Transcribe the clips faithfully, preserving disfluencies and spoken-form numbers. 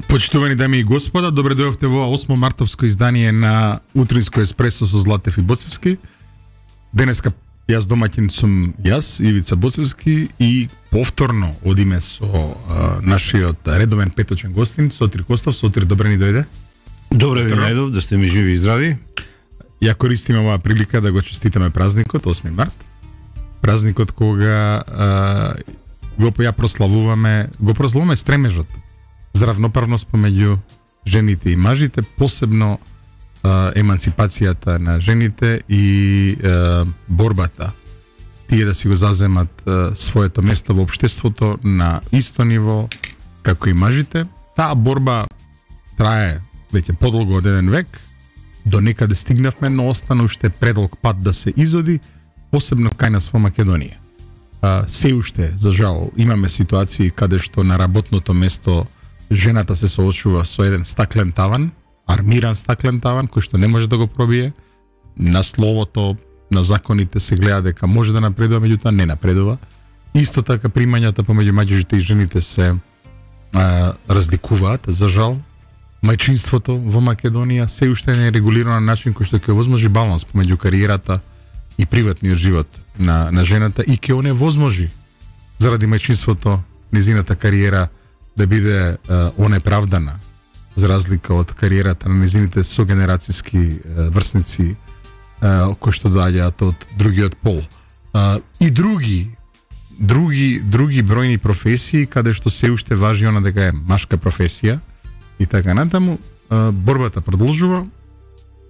Почитувани дами и господа, добре дојавте во осмо мартовско издание на Утринско еспресо со Златев и Боцевски. Денеска јас домаќин сум јас, Ивица Боцевски, и повторно одиме со а, нашиот редовен петочен гостин, Сотир Костов. Сотир, добре ни дојде. Добре ви најдов, да сте ми живи и здрави. Ја користиме оваа прилика да го честитаме празникот, осми март. Празникот кога а, го ја прославуваме, го прославуваме стремежот за равноправност помеѓу жените и мажите, посебно а, емансипацијата на жените и а, борбата тие да си го заземат а, своето место во општеството на исто ниво како и мажите. Таа борба трае веќе подолго од еден век, до некаде стигнавме, но остана уште предолг пат да се изоди, посебно кај нас во Македонија. А, се уште, за жал, имаме ситуации каде што на работното место жената се соочува со еден стаклен таван, армиран стаклен таван, кој што не може да го пробие. На словото, на законите се гледа дека може да напредува, меѓутоа не напредува. Исто така примањата помеѓу мажите и жените се а, разликуваат, за жал. Мајчинството во Македонија се уште не е регулирано на начин кој што ќе овозможи баланс помеѓу кариерата и приватниот живот на, на жената и ќе оневозможи заради мајчинството незината кариера да биде uh, онеправдана, за разлика од кариерата на незините согенерацијски uh, врсници uh, кои што доаѓаат од другиот пол. Uh, и други други други бројни професии каде што се уште важи она дека е машка професија и така натаму. Uh, борбата продолжува,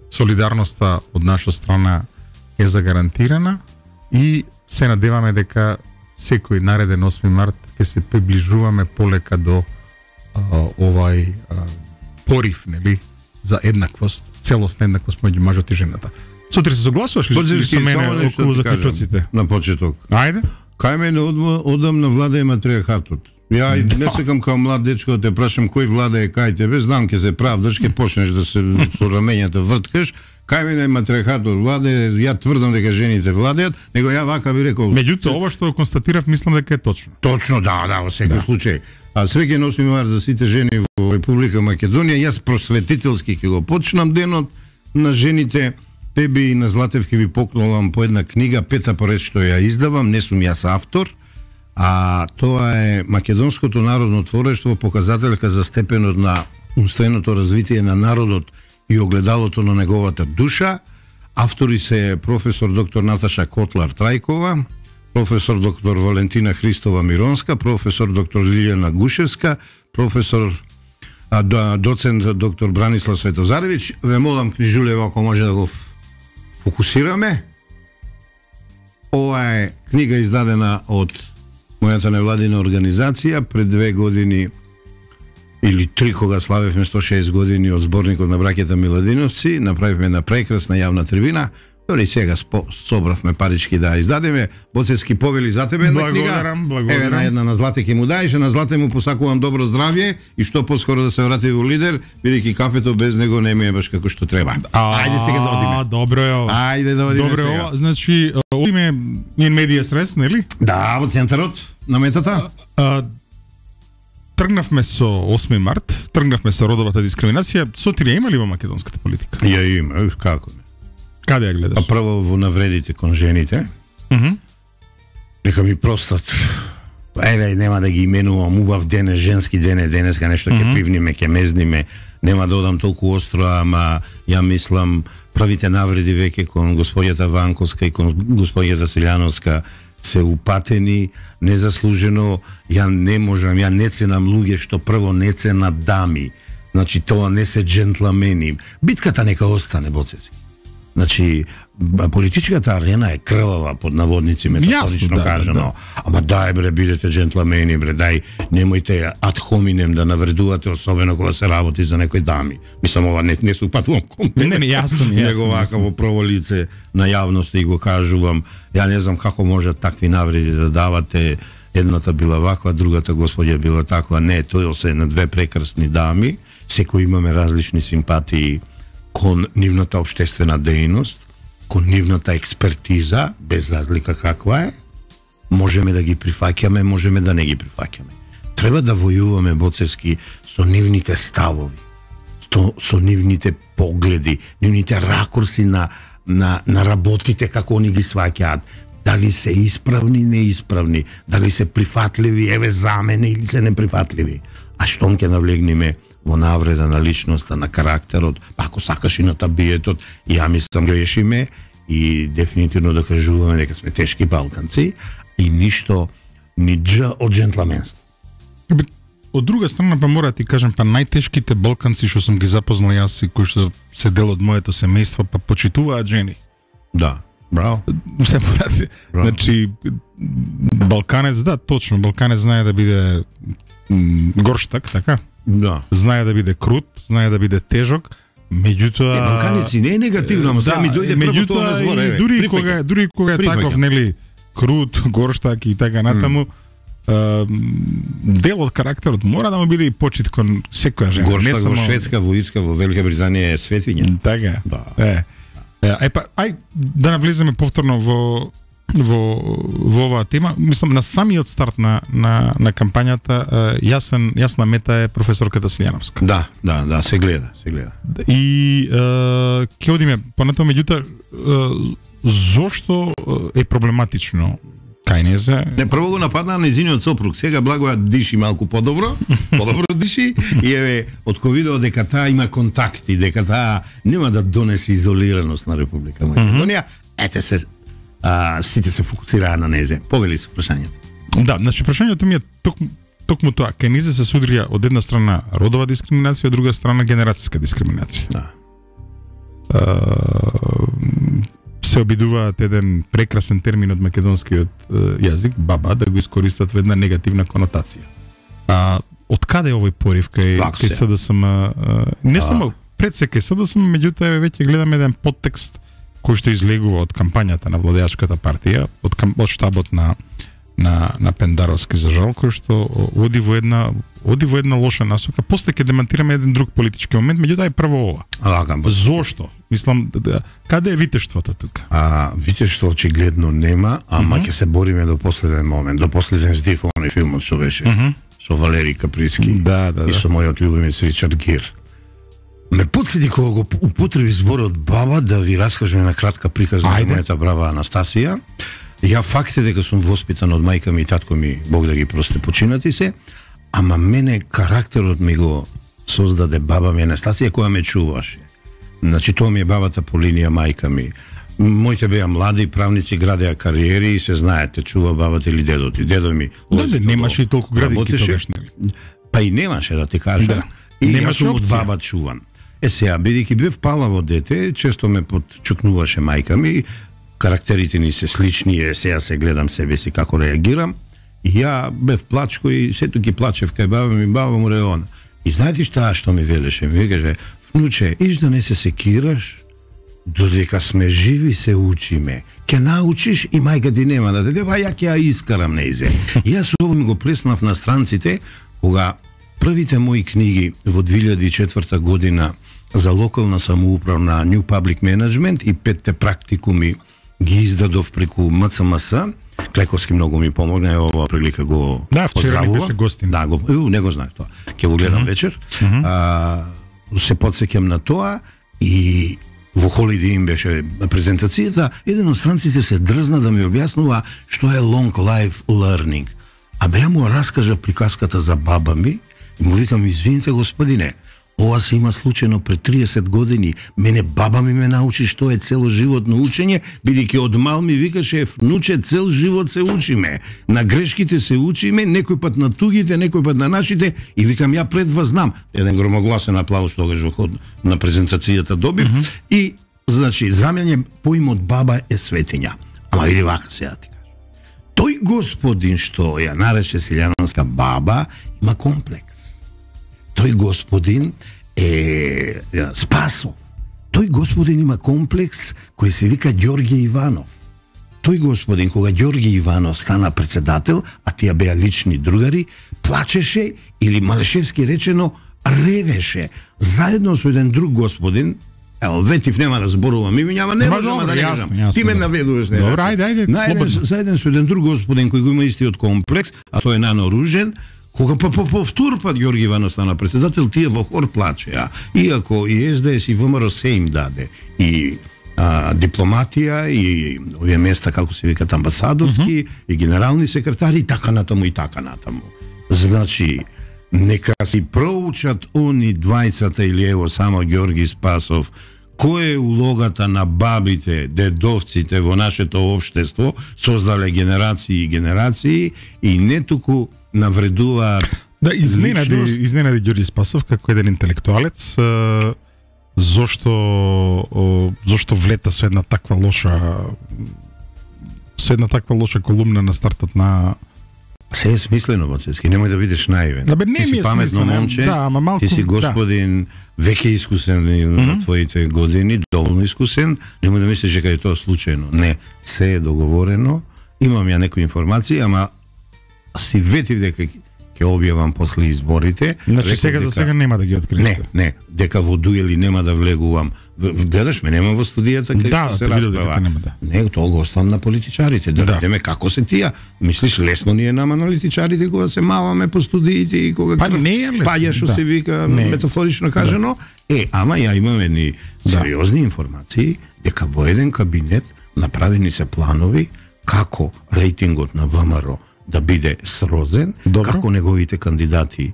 солидарноста од наша страна е загарантирана и се надеваме дека секој нареден осми март ќе се приближуваме полека до а, овај а, порив, нели, за еднаквост, целосна еднаквост меѓу мажот и жената. Сутри се согласуваш ли со мене околу заклучоците? На почеток. Ајде. Кај мене одам на влада и матриархатот. Ја да. Не секам као млад дечко да те прашам кој влада е кај тебе, знам ќе се правдаш, ќе почнеш да се со рамењата врткаш. Кај мене е матриархатот влада, ја тврдам дека жените владеат, него ја вака би рекол. Меѓутоа ова што констатирав мислам дека е точно. Точно, да, да, во секој да. случај. А среќен осми март за сите жени во Република Македонија. Јас просветителски ќе го почнам денот на жените. Тебе и на Златев ќе ви поклонам по една книга, пета поред што ја издавам, не сум јас автор, а тоа е Македонското народно творештво, показателка за степенот на умственото развитие на народот и огледалото на неговата душа. Автори се професор доктор Наташа Котлар Трајкова, професор доктор Валентина Христова Миронска, професор доктор Лилјана Гушевска, професор а, доцент доктор Бранислав Светозаревич. Ве молам, книжулево, ако може да го фокусираме. Ова е книга издадена од мојата невладина организација пред две години или три, кога славевме сто и шест години од зборникот на браќата Миладиновци. Направивме на прекрасна јавна трибина. Дори сега собравме парички да издадеме. Боцевски, повели за тебе една книга. Благодарам, благодарам. Еве на една на Злате ќе му даеш, на Злате му посакувам добро здравје и што поскоро да се врати во лидер, бидејќи кафето без него не ми е баш како што треба. Ајде сега да одиме. Добро е ова. Ајде да одиме добро сега. Ова, значи, одиме ин медија срес, нели? Да, во центарот на метата. А, тргнавме со осми март, тргнавме со родовата дискриминација. Сотирија има ли во македонската политика? Ја има, како не. Каде ја гледаш? А прво во навредите кон жените. Мм. Uh-huh. Нека ми простат. Еве, нема да ги именувам, убав ден е, женски ден е, денеска нешто ќе uh-huh. пивниме, ќе мезниме. Нема да одам толку остро, ама ја мислам правите навреди веќе кон господјата Ванковска и кон господјата Селјановска се упатени, незаслужено. Ја не можам, ја не ценам луѓе што прво не ценат дами. Значи, тоа не се джентламени. Битката нека остане, Боцевски. Значи, политичката арена е крвава, под наводници, метафорично да, кажано. Да, да. Ама дај бре, бидете джентламени, бре, дај, немојте ад хоминем да навредувате, особено кога се работи за некои дами. Мислам, ова не, не се упатувам кон тебе. Не, не, јасно ми, јасно. Него вака во прво лице на јавност и го кажувам. Ја не знам како може такви навреди да давате. Едната била ваква, другата господја била таква. Не, тоа се на две прекрасни дами. Секој имаме различни симпатии кон нивната општествена дејност, кон нивната експертиза, без разлика каква е. Можеме да ги прифаќаме, можеме да не ги прифаќаме. треба да војуваме Боцевски со нивните ставови, со, со нивните погледи, нивните ракурси на, на, на работите како они ги сваќаат, дали се исправни, неисправни, дали се прифатливи, еве за мене, или се неприфатливи. А штом ќе навлегнеме во навреда на личноста, на карактерот, па ако сакаш и на табиетот, ја мислам грешиме и дефинитивно докажуваме дека сме тешки балканци и ништо ни джа од джентламенство. Од друга страна па мора да ти кажам, па најтешките балканци што сум ги запознал јас и кои што се дел од моето семејство, па почитуваат жени. Да, браво. Се мора, значи балканец, да, точно, балканец знае да биде горштак, така? Да. Знае да биде крут, знае да биде тежок, меѓутоа е, балканеци не е негативно, ама сега ми дојде прво тоа на збор, еве. Дури кога, дури кога е таков, нели, крут, горштак и така натаму, дел од карактерот мора да му биде и почит кон секоја жена. Горштак во Шведска, во Ирска, во Велика Британија е светиња. Така. Да. Е. Ај па ај да навлеземе повторно во во во оваа тема. Мислам на самиот старт на на на кампањата јасен јасна мета е професорката Силјановска. Да, да, да, се гледа, се гледа. И ќе одиме понатаму, меѓутоа зошто е проблематично кај незе? Не, прво го нападна на незиниот сопруг, сега Благоја диши малку подобро, подобро диши и еве од кој видео дека таа има контакти, дека таа нема да донесе изолираност на Република Македонија, ете се а, сите се фокусираа на незе. Повели се прашањето. Да, значи прашањето ми е токму токму тоа, кај незе се судрија од една страна родова дискриминација, од друга страна генерацијска дискриминација. Да. Uh, се обидуваат еден прекрасен термин од македонскиот uh, јазик, баба, да го искористат во една негативна конотација. А од каде е овој порив кај кај СДСМ? Uh, не само пред се кај СДСМ, меѓутоа веќе гледаме еден подтекст кој што излегува од кампањата на владеачката партија, од, од штабот на на на Пендаровски, за жал, кој што оди во една оди во една лоша насока. После ќе демонтираме еден друг политички момент, меѓутоа е прво ова. А, зошто? Мислам, да, каде е витештвото тука? А витештво очигледно нема, ама ќе mm -hmm. се бориме до последен момент, до последен здив оној филмот што беше mm -hmm. со Валери Каприски да, да, и со мојот љубимец Ричард Гир. Ме потсети кога го употреби зборот баба да ви раскажем на кратка приказна за мојата брава Анастасија. Ја факт е дека сум воспитан од мајка ми и татко ми, Бог да ги прости, починати се, ама мене карактерот ми го создаде баба ми Анастасија која ме чуваше. Значи тоа ми е бабата по линија мајка ми. Моите беа млади правници, градеа кариери и се знаете, чува бабата или дедот. И дедо ми да, да, немаше и толку градинки тогаш, нели? Па и немаше, да ти кажам. Да. И немаше јас сум од баба чуван. Е сега, бидејќи бев палаво дете, често ме подчукнуваше мајка ми, карактерите ни се слични, е, сега се гледам себе си како реагирам, и ја бев плачко и сето ги плачев кај баба ми, баба му реона. И знаете што што ми велеше? Ми каже, внуче, иш да не се секираш, додека сме живи се учиме. Ке научиш и мајка ти нема да те деба, ја ќе ја искарам неизе. И јас ово ми го плеснав на странците, кога првите мои книги во две илјади и четврта година за локална самоуправна New Public Management и петте практикуми ги издадов преку М Ц М С. Клековски многу ми помогна, оваа прилика го да, вчера ми беше гостин. Да, го, у, не го знаев тоа. Ќе го гледам mm -hmm. вечер. Mm -hmm. а, се подсеќам на тоа и во Holiday Inn беше презентацијата, еден од странците се дрзна да ми објаснува што е long life learning. А бе ја му раскажа приказката за баба ми и му викам, извините господине, ова се има случајно пред триесет години. Мене баба ми ме научи што е целоживотно учење, бидејќи од мал ми викаше, внуче, цел живот се учиме. На грешките се учиме, некој пат на тугите, некој пат на нашите, и викам, ја пред вас знам. Еден громогласен аплауз тогаш во ход на презентацијата добив. Mm -hmm. И, значи, за мене поимот баба е светиња. Ама види вака се ја ти кажа. Тој господин што ја нарече Силјановска баба, има комплекс. Тој господин е Спасов. Тој господин има комплекс кој се вика Ѓорѓе Иванов. Тој господин, кога Ѓорѓе Иванов стана председател, а тие беа лични другари, плачеше или малешевски речено ревеше заедно со еден друг господин. Ево, ветив нема да зборувам имиња, ама не можам да не кажам. Ти ме наведуваш, не. Добро, ајде, ајде, слободно. Заеден со еден друг господин кој го има истиот комплекс, а тој е Нано Ружен, Кога па по повтор пат Ѓорги Иванов стана председател, тие во хор плачеа. Иако и Ес Де Ес и ВМРО се им даде. И а, дипломатија и овие места, како се викат, амбасадорски, uh -huh. и генерални секретари, и така натаму, и така натаму. Значи, нека си проучат они двајцата или ево само Ѓорги Спасов, која е улогата на бабите, дедовците во нашето општество, создале генерации и генерации, и не туку навредуваат. Да, изненади, изненади Ѓорги Спасов како еден интелектуалец, е, зошто о, зошто влета со една таква лоша со една таква лоша колумна на стартот на. Се е смислено, Боцевски, немој да бидеш наивен. Да, бе, не ти си паметно момче, да, ама малку, ти си господин, да. веќе искусен на mm -hmm. твоите години, доволно искусен, немој да мислиш дека е тоа случајно. Не, се е договорено, имам ја некои информации, ама си ветив дека ќе објавам после изборите. Значи сега за сега нема да ги откриете. Не, не, дека во дуели нема да влегувам. Гледаш ме, нема во студијата кај да, се расправа. Нема, да. Не, тоа го оставам на политичарите. Да, да видиме како се тие. Мислиш лесно ни е нама аналитичарите кога се маваме по студиите и кога па не е лесно. Паѓа што да. се вика не. Метафорично кажано. Да. Е, ама ја имам едни да. сериозни информации дека во еден кабинет направени се планови како рейтингот на ВМРО да биде срозен, добро. Како неговите кандидати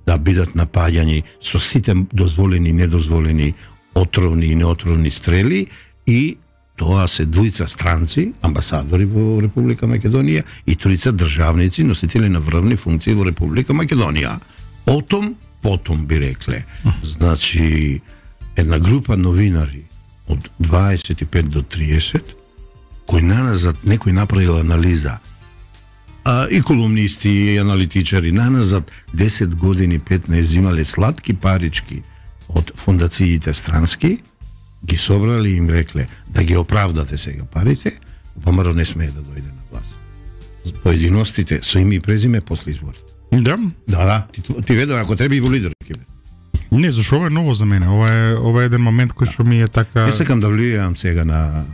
да бидат напаѓани со сите дозволени и недозволени отровни и неотровни стрели, и тоа се двојца странци, амбасадори во Република Македонија, и тројца државници, носители на врвни функции во Република Македонија. Отом, потом би рекле. Значи, една група новинари од дваесет и пет до триесет, кои наназад некој направил анализа, а, и колумнисти, и аналитичари, наназад десет години, петнаесет, зимале сладки парички од фондациите странски, ги собрали и им рекле да ги оправдате сега парите, ВМРО не смее да дојде на власт. Поединостите со име и презиме после изборите. Да? Да, да. Ти, ти ведо, ако треба и во лидер ќе биде. Не, зашо ова е ново за мене. Ова е, ова е еден момент кој што ми е така. Не сакам да влијам сега на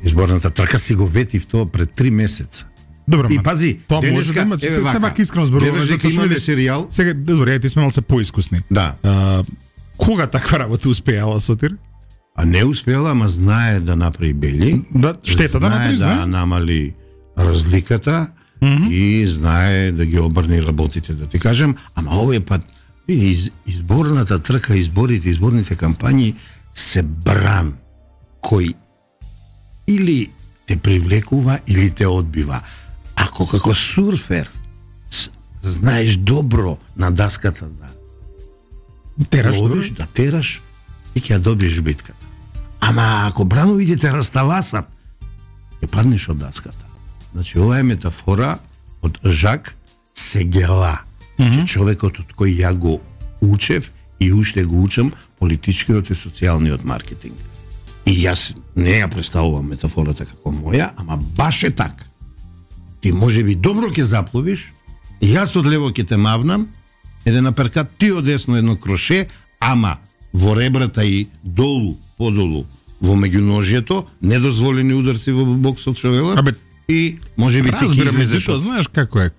изборната трка, си го ветив тоа пред три месеца. Добро, и пази, тоа може да има, се се вака искрено зборуваме, дека имаме серијал. Сега, добро, ја ти сме малце поискусни. Да. А, кога таква работа успеала, Сотир? А не успела, ама знае да направи бели. Да, штета да направи, знае да намали разликата mm -hmm. и знае да ги обрни работите, да ти кажем. Ама овој пат, из, изборната трка, изборите, изборните кампањи се бран кој или те привлекува или те одбива. Ако како сурфер знаеш добро на даската да тераш, ловиш, да тераш, и ќе ја добиеш битката. Ама ако брановите те расталасат, ќе паднеш од даската. Значи, ова е метафора од Жак Сегела, mm -hmm. че човекот од кој ја го учев и уште го учам политичкиот и социјалниот маркетинг. И јас не ја представувам метафората како моја, ама баш е така. Ти може би добро ќе запловиш, јас од лево ќе те мавнам, еден аперкат, ти од десно едно кроше, ама во ребрата и долу, подолу, во меѓуножјето, недозволени ударци во боксот што велат, и може би ти ќе излезеш. Знаеш како е,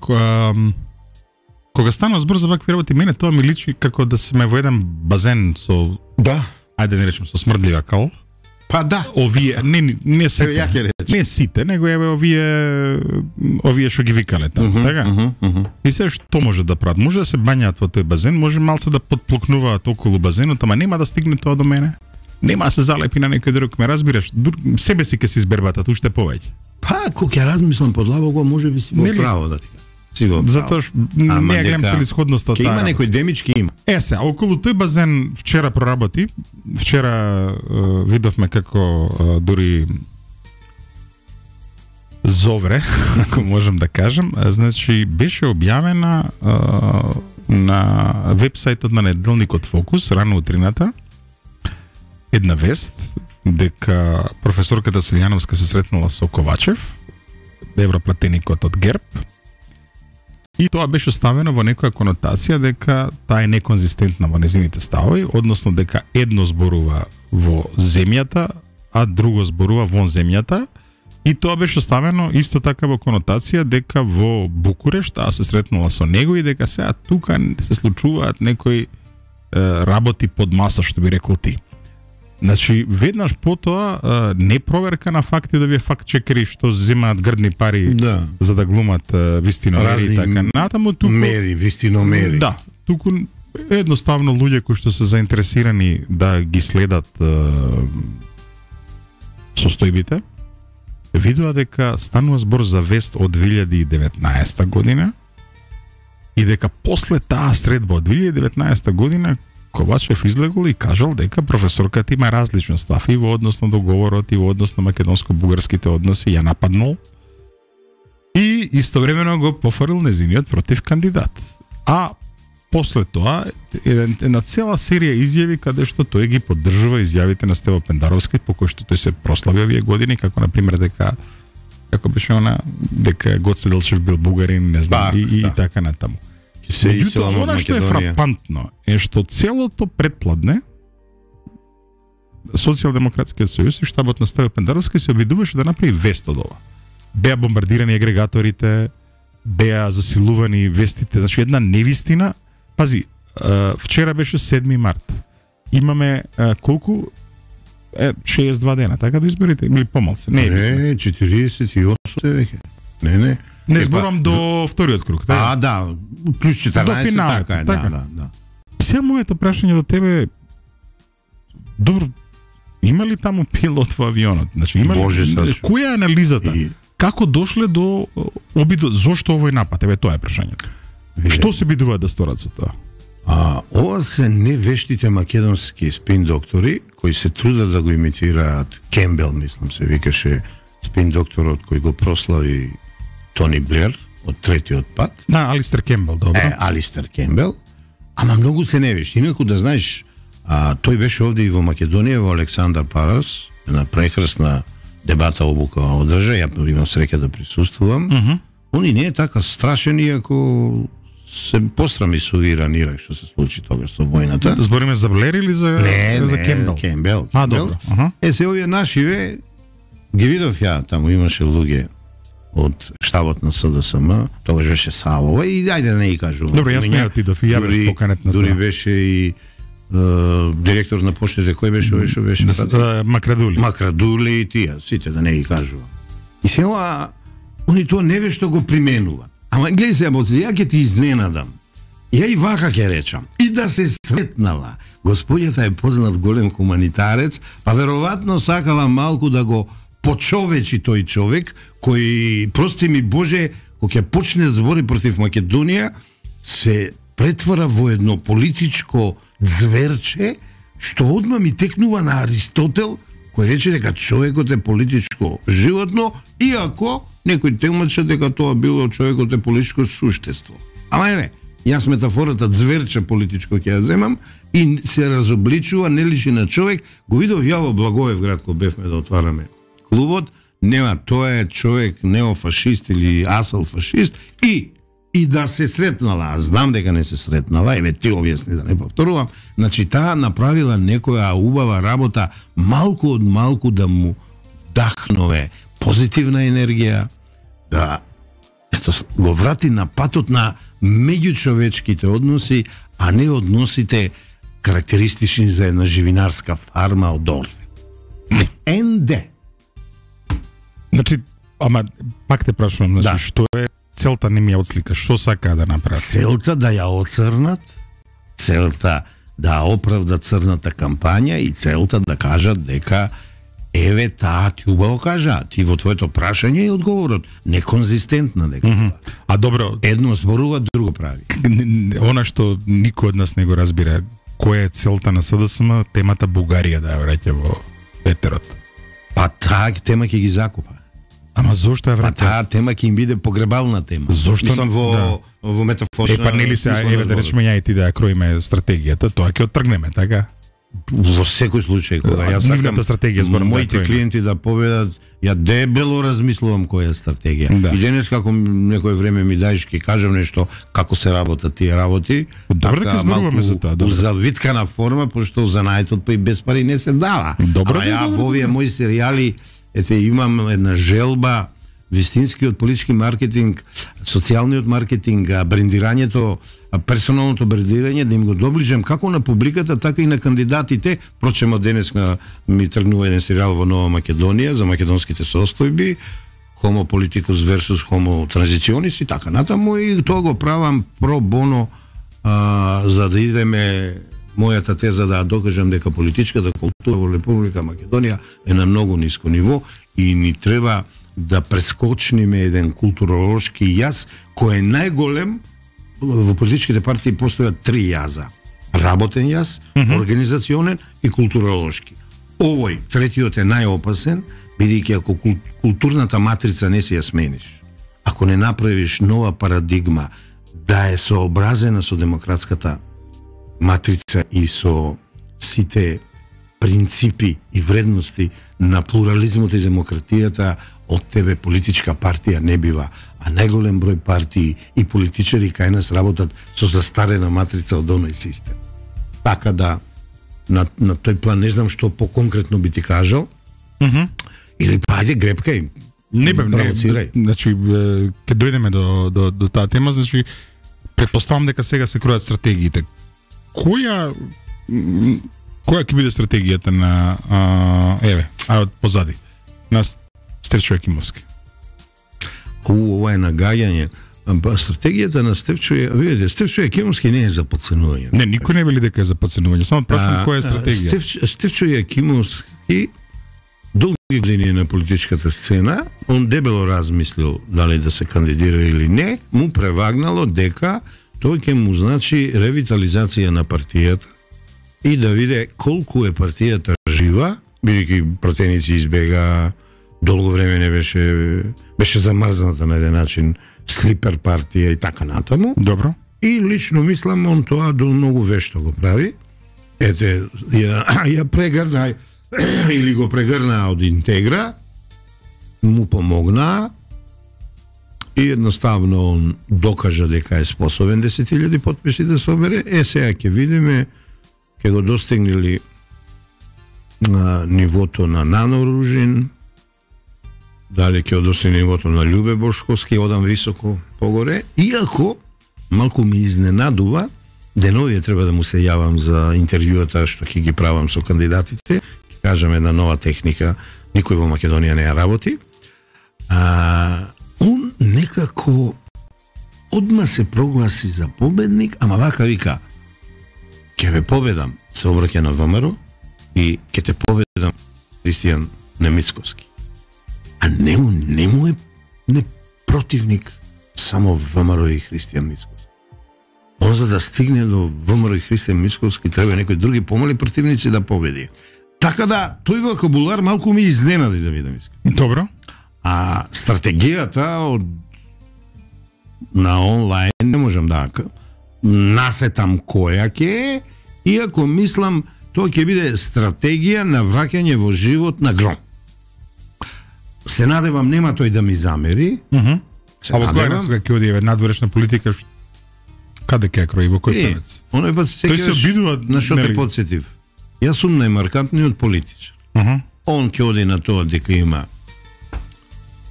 кога станува збор за вакви работи, мене тоа ми личи како да сме во еден базен со, да, ајде да речем, со смрдлива кал. Па да. Овие, не, не сите, не сите, него еве овие, овие што ги викале таму, uh -huh, така? Uh -huh, uh -huh. И се што може да прават? Може да се бањаат во тој базен, може малце да подплукнуваат околу базенот, ама нема да стигне тоа до мене. Нема да се залепи на некој друг, ме разбираш? Себе си ке се избербатат уште повеќе. Па, кога ќе размислам подлабоко, може би си во право да ти кажам. Затоа што не ја гледам целисходноста таа. Ке има некој демички има. Е се, околу тој базен вчера проработи. Вчера uh, видовме како uh, дури зовре, ако можем да кажем, значи беше објавена uh, на вебсајтот на неделникот Фокус рано утрината една вест дека професорката Силјановска се сретнала со Ковачев, европратеникот од ГЕРБ. И тоа беше ставено во некоја конотација дека таа е неконзистентна во незините ставови, односно дека едно зборува во земјата, а друго зборува вон земјата, И тоа беше ставено исто така во конотација дека во Букурешт таа се сретнала со него и дека сега тука се случуваат некои е, работи под маса, што би рекол ти. Значи, веднаш потоа е, не проверка на факти да ви факт чекери што земаат грдни пари да. за да глумат е, вистиномери и така натаму. Туку, мери, вистиномери. Да, туку едноставно луѓе кои што се заинтересирани да ги следат е, состојбите, видува дека станува збор за вест од две илјади и деветнаесета година и дека после таа средба од две илјади и деветнаесета година Ковачев излегол и кажал дека професорката има различен став и во однос на договорот и во однос на македонско-бугарските односи, ја нападнал и истовремено го пофрлил незиниот против кандидат. А после тоа една цела серија изјави каде што тој ги поддржува изјавите на Стево Пендаровски, по кој што тој се прослави овие години, како на пример дека како беше она дека Гоце Делчев бил бугарин, не знам, и, и, да. и така натаму. Меѓутоа, она што е фрапантно е што целото предпладне Социјалдемократскиот сојуз и штабот на Стево Пендаровски се обидуваше да направи вест од ова. Беа бомбардирани агрегаторите, беа засилувани вестите, значи една невистина. Пази, вчера беше седми март. Имаме колку? Е, шеесет и два дена, така до изборите? Или помалце? Не, не четириесет и осум веќе. Не, не. Не зборам до вториот круг, така? А, да, плюс четиринаесет, до финалот, така е, така. да, да, да. Сега моето прашање до тебе, добро, има ли таму пилот во авионот? Значи, има ли, Боже, која е анализата? И... Како дошле до обидот, зошто овој напад? Еве тоа е прашањето. Што се бидуваат да сторат за тоа? А, ова се невештите македонски спин доктори кои се трудат да го имитираат. Кембел, мислам се викаше спин докторот кој го прослави Тони Блер од третиот пат. Да, Алистер Кембел, добро. Е, Алистер Кембел. Ама многу се невешти. Инаку да знаеш, а, тој беше овде и во Македонија, во Александар Парас, на прекрасна дебата обука одржа, ја имам среќа да присуствувам. Uh -huh. Он и не е така страшен, иако се посрами со Иран Ирак што се случи тогаш со војната. Збориме за Блер или за, не, за не, Кембел? Кембел. А, добро. Uh -huh. Е, се овие нашиве ги видов ја, таму имаше луѓе од штабот на СДСМ, тогаш беше Савова и ајде да не ги кажувам. Добро, јас не отидов и ја бев поканет на тоа. Дури беше и Uh, директор на поштите, кој беше овој што беше? Да, Макрадули. Макрадули и тие, сите да не ги кажувам. И сега они тоа невешто го применуваат. Ама гледај се, боци, ја ќе ти изненадам. Ја и вака ќе речам. И да се сретнала. Господјата е познат голем хуманитарец, па веројатно сакала малку да го почовечи тој човек, кој, прости ми Боже, кога ќе почне збори против Македонија, се претвара во едно политичко зверче, што одма ми текнува на Аристотел, кој рече дека човекот е политичко животно, иако некој темаче дека тоа било човекот е политичко суштество. Ама еве, јас метафората зверче политичко ќе ја земам и се разобличува, не личи на човек. Го видов ја во Благоевград кога бевме да отвараме клубот, нема, тоа е човек неофашист или асал фашист и и да се сретнала, а знам дека не се сретнала, еве ти објасни да не повторувам, значи таа направила некоја убава работа, малку од малку да му дахнове позитивна енергија, да ето, го врати на патот на меѓучовечките односи, а не односите карактеристични за една живинарска фарма од Орве. Н Д. Значи, ама пак те прашувам, значи, да. Што е целта не ми ја отслика, што сака да направи? Целта да ја оцрнат, целта да оправдат црната кампања и целта да кажат дека еве таа ти убаво кажа, ти во твоето прашање и одговорот неконзистентна дека. Mm -hmm. А добро, едно зборува, друго прави. Она што никој од нас не го разбира, која е целта на СДСМ, темата Бугарија да ја враќа во етерот. Па таа тема ќе ги закупа. Ама зошто ја враќа? Па таа тема ќе им биде погребална тема. Зошто? Мислам во, да. во метафорична... Е, па нели се, еве да речеме ја и ти да ја кроиме стратегијата, тоа ќе оттргнеме, така? Во секој случај, кога јас сакам стратегија зборам моите да клиенти да победат, ја дебело размислувам која е стратегија. Да. И денес како некој време ми даеш ќе кажам нешто како се работат тие работи. Добро дека зборуваме за тоа, добро. Завиткана форма, пошто занаетот па и без пари не се дава. Добро, а ја во овие мои серијали ете имам една желба вистинскиот политички маркетинг, социјалниот маркетинг, брендирањето, персоналното брендирање да им го доближам како на публиката, така и на кандидатите. Впрочем, од денес ми тргнува еден серијал во Нова Македонија за македонските состојби, Homo politicus versus Homo transitionis и така натаму, и тоа го правам про боно, а, за да идеме мојата теза да докажам дека политичката култура во Република Македонија е на многу ниско ниво и ни треба да прескочниме еден културолошки јаз кој е најголем. Во политичките партии постојат три јаза: работен јаз, mm -hmm. организационен и културолошки. Овој третиот е најопасен, бидејќи ако културната матрица не си ја смениш, ако не направиш нова парадигма да е сообразена со демократската матрица и со сите принципи и вредности на плурализмот и демократијата, од тебе политичка партија не бива, а најголем број партии и политичари кај нас работат со застарена матрица од оној систем. Така да, на, на тој план не знам што поконкретно би ти кажал, mm -hmm. или па ајде грепкај, не бе, не, значи, ке дојдеме до, до, до таа тема, значи, предпоставам дека сега се кројат стратегиите. Која која ќе биде стратегијата на а, еве, а од позади на Стефчо Јакимовски? У, ова е нагаѓање. Стратегијата на Стефчо, видите, Стефчо Јакимовски не е за подценување. Не, никој не вели дека е за подценување, само прашувам која е стратегија. Стефчо, Стефчо Јакимовски долги години на политичката сцена, он дебело размислил дали да се кандидира или не, му превагнало дека тој ќе му значи ревитализација на партијата и да виде колку е партијата жива, бидејќи пратеници избега, долго време не беше беше замрзната на еден начин, слипер партија и така натаму. Добро. И лично мислам он тоа до многу вешто го прави. Ете, ја, ја прегрна или го прегрна од Интегра, му помогна и едноставно он докажа дека е способен десет илјади потписи да собере. Е, сега ќе видиме, ќе го достигнели на нивото на Нано Ружин, дали ќе достигне нивото на Љубе Бошковски, одам високо погоре, иако малку ми изненадува, деновија треба да му се јавам за интервјуата што ќе ги правам со кандидатите, ќе кажам една нова техника, никој во Македонија не ја работи. А, он некако одма се прогласи за победник, ама вака вика: ќе ве победам, се обраќа на ВМРО, и ќе те победам, Христијан Немицковски. А нему, нему е не противник само ВМРО и Христијан Мицковски. Он за да стигне до ВМРО и Христијан Мицковски треба некои други помали противници да победи. Така да, тој вокабулар малку ми изненади, да видам искрено. Добро. А стратегијата од на онлайн не можам да насетам која ќе е, иако мислам тоа ќе биде стратегија на враќање во живот на Гром. Се надевам нема тој да ми замери. Mm -hmm. А во која сега ќе оди надворешна политика, каде ќе крои, во кој правец? Оној пат се обидува на што те подсетив. Јас сум најмаркантниот политичар. Uh -huh. Он ќе оди на тоа дека има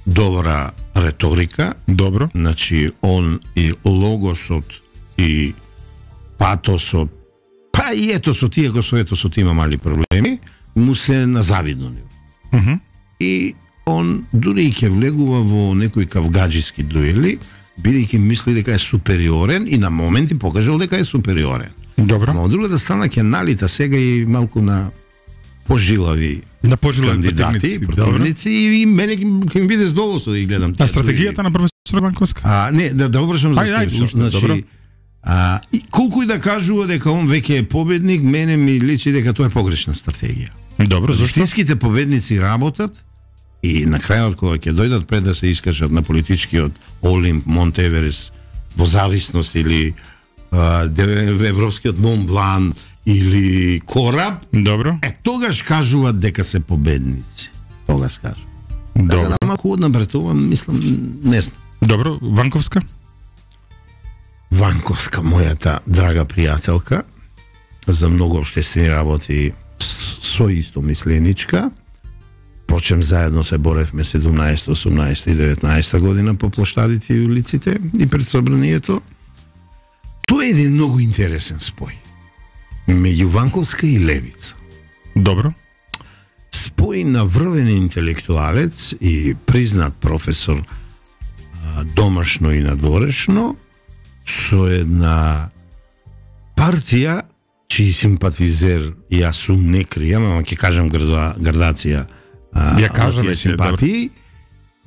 добра реторика. Добро. Значи, он и логосот и патосот, па и етосот, иако со етосот има мали проблеми, му се на завидно ниво. Uh -huh. И он дури и ќе влегува во некои кавгаджиски дуели, бидејќи мисли дека е супериорен и на моменти покажал дека е супериорен. Добро. Но од другата страна ќе налита сега и малку на пожилави на пожилави кандидати, противници, и мене ќе ми биде задоволство да ги гледам. А стратегијата на професор Банковска? А не, да да вршам за Стефчо. Значи, а и колку и да кажува дека он веќе е победник, мене ми личи дека тоа е погрешна стратегија. Добро, зашто? Истинските победници работат и на крајот кога ќе дојдат пред да се искажат на политичкиот Олимп, Монт Еверест, во зависност или европскиот Монблан или Кораб, добро. Е, тогаш кажуваат дека се победници. Тогаш кажуваат. Добро. Така да малку однабретувам, мислам, не знам. Добро, Ванковска? Ванковска, мојата драга пријателка, за многу општествени работи со истомисленичка, Впрочем, заедно се боревме седумнаесета, осумнаесета и деветнаесета година по площадите и улиците и пред собранието. Тоа е еден многу интересен спој меѓу Ванковска и Левица. Добро. Спој на врвен интелектуалец и признат професор домашно и надворешно со една партија чиј симпатизер јас сум не кријам, ама ќе кажам грда, градација ја кажа симпатии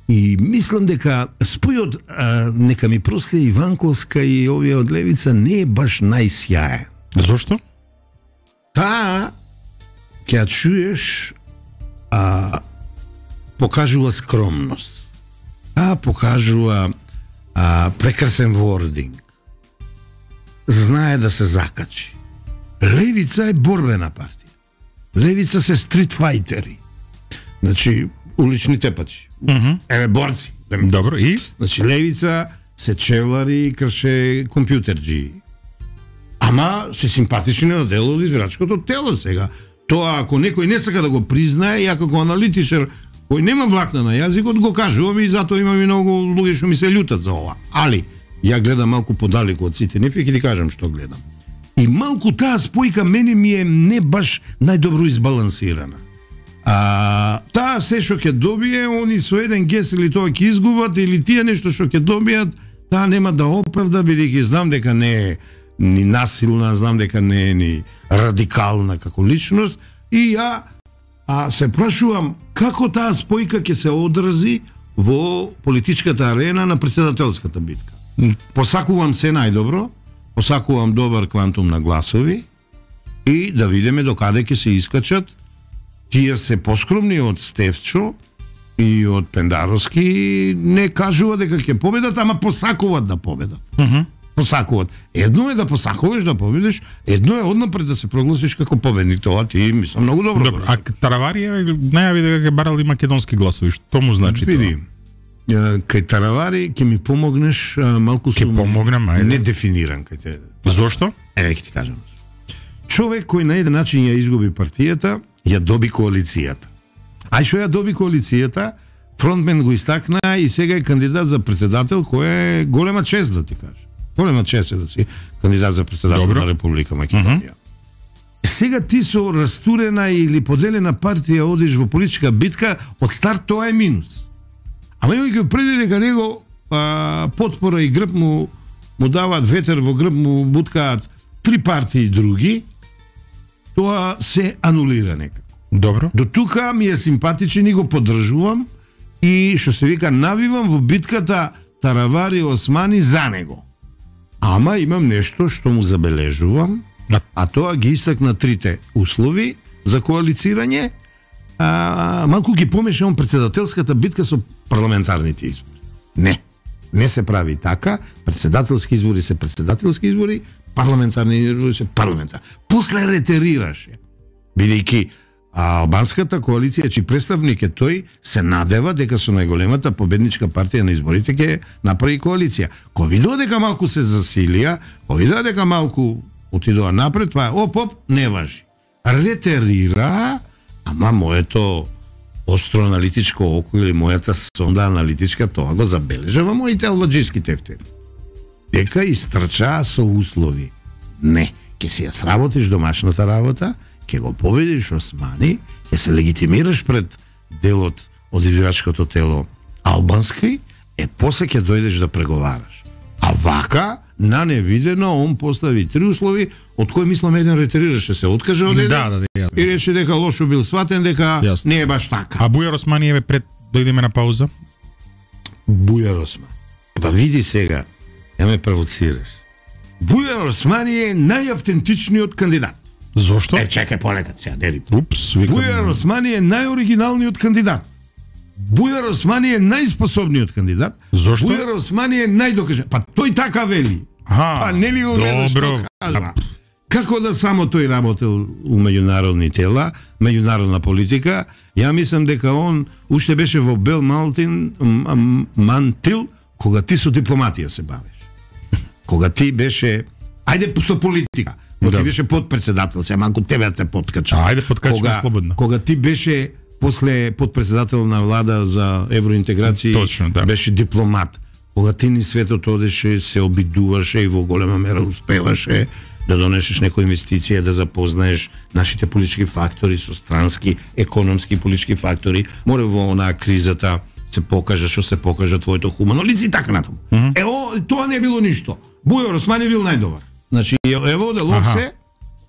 и мислам дека спојот а, нека ми прости и Ванковска и овие од Левица не е баш најсјаен. Зошто? Таа ќе ја чуеш а, покажува скромност. Таа покажува а, прекрасен вординг. Знае да се закачи. Левица е борбена партија. Левица се стритфајтери. Значи, улични тепачи. Mm -hmm. Еве борци. Добро, и? Значи, Левица се чевлари и крше компјутерџи. Ама се симпатични на дело од избирачкото тело сега. Тоа ако некој не сака да го признае, ја како аналитичар кој нема влакна на јазикот, го кажувам и затоа имам и многу луѓе што ми се љутат за ова. Али, ја гледам малку подалеку од сите нив и ќе ти кажам што гледам. И малку таа спојка мене ми е не баш најдобро избалансирана. А, таа се што ќе добие, они со еден гес или тоа ќе изгубат, или тие нешто што ќе добијат, таа нема да оправда, бидејќи знам дека не е ни насилна, знам дека не е ни радикална како личност, и ја а се прашувам како таа спојка ќе се одрази во политичката арена на претседателската битка. Посакувам се најдобро, посакувам добар квантум на гласови и да видиме докаде ќе се искачат. Тие се поскромни од Стефчо и од Пендаровски, не кажува дека ќе победат, ама посакуваат да победат. Uh -huh. Посакуваат. Едно е да посакуваш да победиш, едно е однапред да се прогласиш како победник. Тоа ти мислам многу добро. Добро, а Таравари најави дека ќе барали македонски гласови, што му значи тоа? Види, кај Таравари ќе ми помогнеш малку сум помогнем, ајде. Не дефиниран кај те. Зошто? Еве ќе ти кажам. Човек кој на еден начин ја изгуби партијата, ја доби коалицијата. А што ја доби коалицијата, фронтмен го истакна и сега е кандидат за председател, кој е голема чест да ти кажа. Голема чест е да си кандидат за председател Добро. На Република Македонија. Uh -huh. Сега ти со растурена или поделена партија одиш во политичка битка, од старт тоа е минус. Ама имајќи преди дека него а, потпора и грб му му даваат ветер во грб, му буткаат три партии други, тоа се анулира некако. Добро. До тука ми е симпатичен и го поддржувам и што се вика навивам во битката Таравари Османи за него. Ама имам нешто што му забележувам, а тоа ги истакна трите услови за коалицирање. А, малку ги помешавам председателската битка со парламентарните избори. Не, не се прави така. Председателски избори се председателски избори, парламентарни избори се парламентарни. После ретерираше. Бидејќи албанската коалиција, чиј представник е тој, се надева дека со најголемата победничка партија на изборите ќе направи коалиција. Кога видува дека малку се засилија, кога видува дека малку отидува напред, това е оп-оп, не важи. Ретерира, ама моето остро аналитичко око или мојата сонда аналитичка тоа го забележа во моите албаджиски тефтери. Дека истрчаа со услови. Не, ќе си ја сработиш домашната работа, ќе го победиш Османи, ќе се легитимираш пред делот од избирачкото тело албански, е после ќе дојдеш да преговараш. А вака, на невидено, он постави три услови, од кои мислам еден ретерираше, се откаже од еден, да, да, да, и рече дека лошо бил сватен, дека јас. Не е баш така. А Бујар Османи еве пред дојдеме на пауза? Бујар Османи. Па види сега, ја ме провоцираш. Бујар Османи е најавтентичниот кандидат. Зошто? Е, чекај полека, сега, дери. Упс, викам... Бујар Османи е најоригиналниот кандидат. Бујар Османи е најспособниот кандидат. Зошто? Бујар Османи е најдокажен. Па тој така вели. Аха, па не ли го гледаш што кажа? Како да само тој работел у меѓународни тела, меѓународна политика, ја мислам дека он уште беше во Бел Малтин, Мантил, кога ти со дипломатија се бавиш. Кога ти беше, ајде со политика, кога да. Ти беше подпредседател, се малку тебе те подкача. Ајде подкачаме слободно. Кога ти беше после подпредседател на влада за евроинтеграција. Точно, да. Беше дипломат. Кога ти ни светот одеше, се обидуваше и во голема мера успеваше да донесеш некоја инвестиција, да запознаеш нашите политички фактори со странски, економски политички фактори. Море во онаа кризата се покажа, што се покажа твоето хумано лице и така натаму. Mm -hmm. Ево, тоа не било ништо. Бујар Османи бил најдобар. Значи, ево, делов се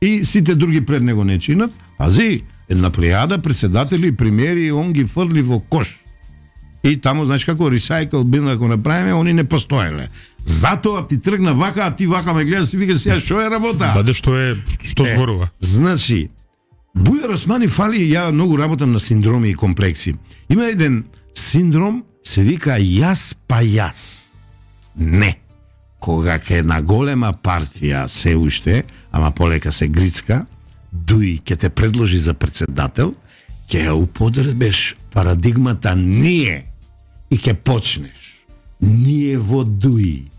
и сите други пред него не чинат. Пази, една плејада председатели и премиери, он ги фрли во кош. И таму, знаеш како, recycle бин ако направиме, они не постоеле. Затоа ти тргна вака, а ти вака ме гледаш и викаш сега што е работа? Баде што е, што е, зборува? Значи, Бујар Османи фали, ја многу работам на синдроми и комплекси. Има еден синдром, се вика јас па јас. Не. Кога ке една голема партија се уште, ама полека се грицка, дуи ке те предложи за председател, ке ја употребеш парадигмата ние и ке почнеш. Ние во дуи,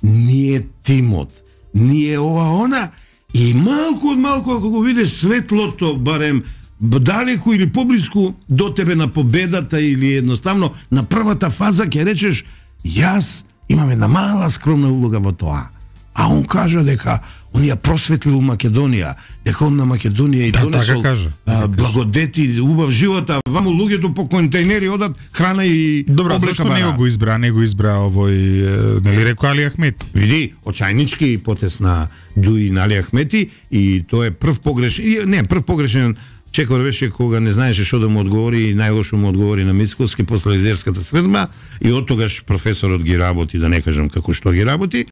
ние тимот, ние ова она и малку од малку ако го видиш светлото, барем далеку или поблиску до тебе на победата или едноставно на првата фаза ќе речеш јас имам една мала скромна улога во тоа. А он кажа дека он ја просветлил Македонија, дека он на Македонија и да, донесол така кажа, а, благодети, убав живот, а ваму луѓето по контейнери одат храна и добро, облека зашто бара. не го избра, не го избра овој, нели рекол Али Ахмет? Види, очајнички потез на Дуи на Али Ахмети и тоа е прв погрешен, не, прв погрешен чекор беше кога не знаеше што да му одговори и најлошо му одговори на Мицковски после лидерската средба и од тогаш професорот ги работи, да не кажам како што ги работи.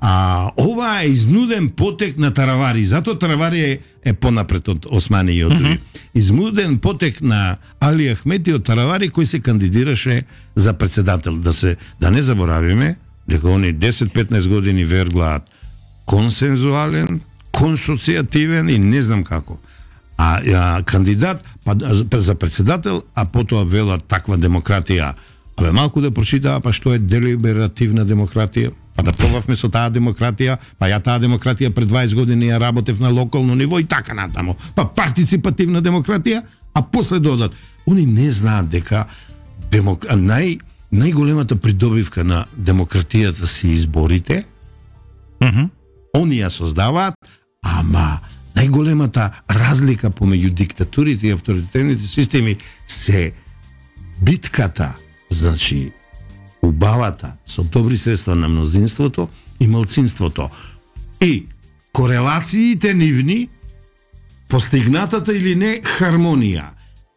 А ова е изнуден потек на Таравари, затоа Таравари е, е понапред од Османи и од Дуи. Mm -hmm. Изнуден потек на Али Ахмети од Таравари кој се кандидираше за председател. Да се да не заборавиме дека они десет-петнаесет години верглаат консензуален, консоцијативен и не знам како. А, а кандидат па, за председател, а потоа велат таква демократија. Абе малку да прочитаа па што е делиберативна демократија. Па да пробавме со таа демократија, па ја таа демократија пред дваесет години ја работев на локално ниво и така натаму. Па партиципативна демократија, а после додат. Они не знаат дека демок... нај најголемата придобивка на демократијата се изборите. Mm -hmm. Они ја создаваат, ама најголемата разлика помеѓу диктатурите и авторитарните системи се битката, значи убавата со добри средства на мнозинството и малцинството и корелациите нивни, постигнатата или не хармонија.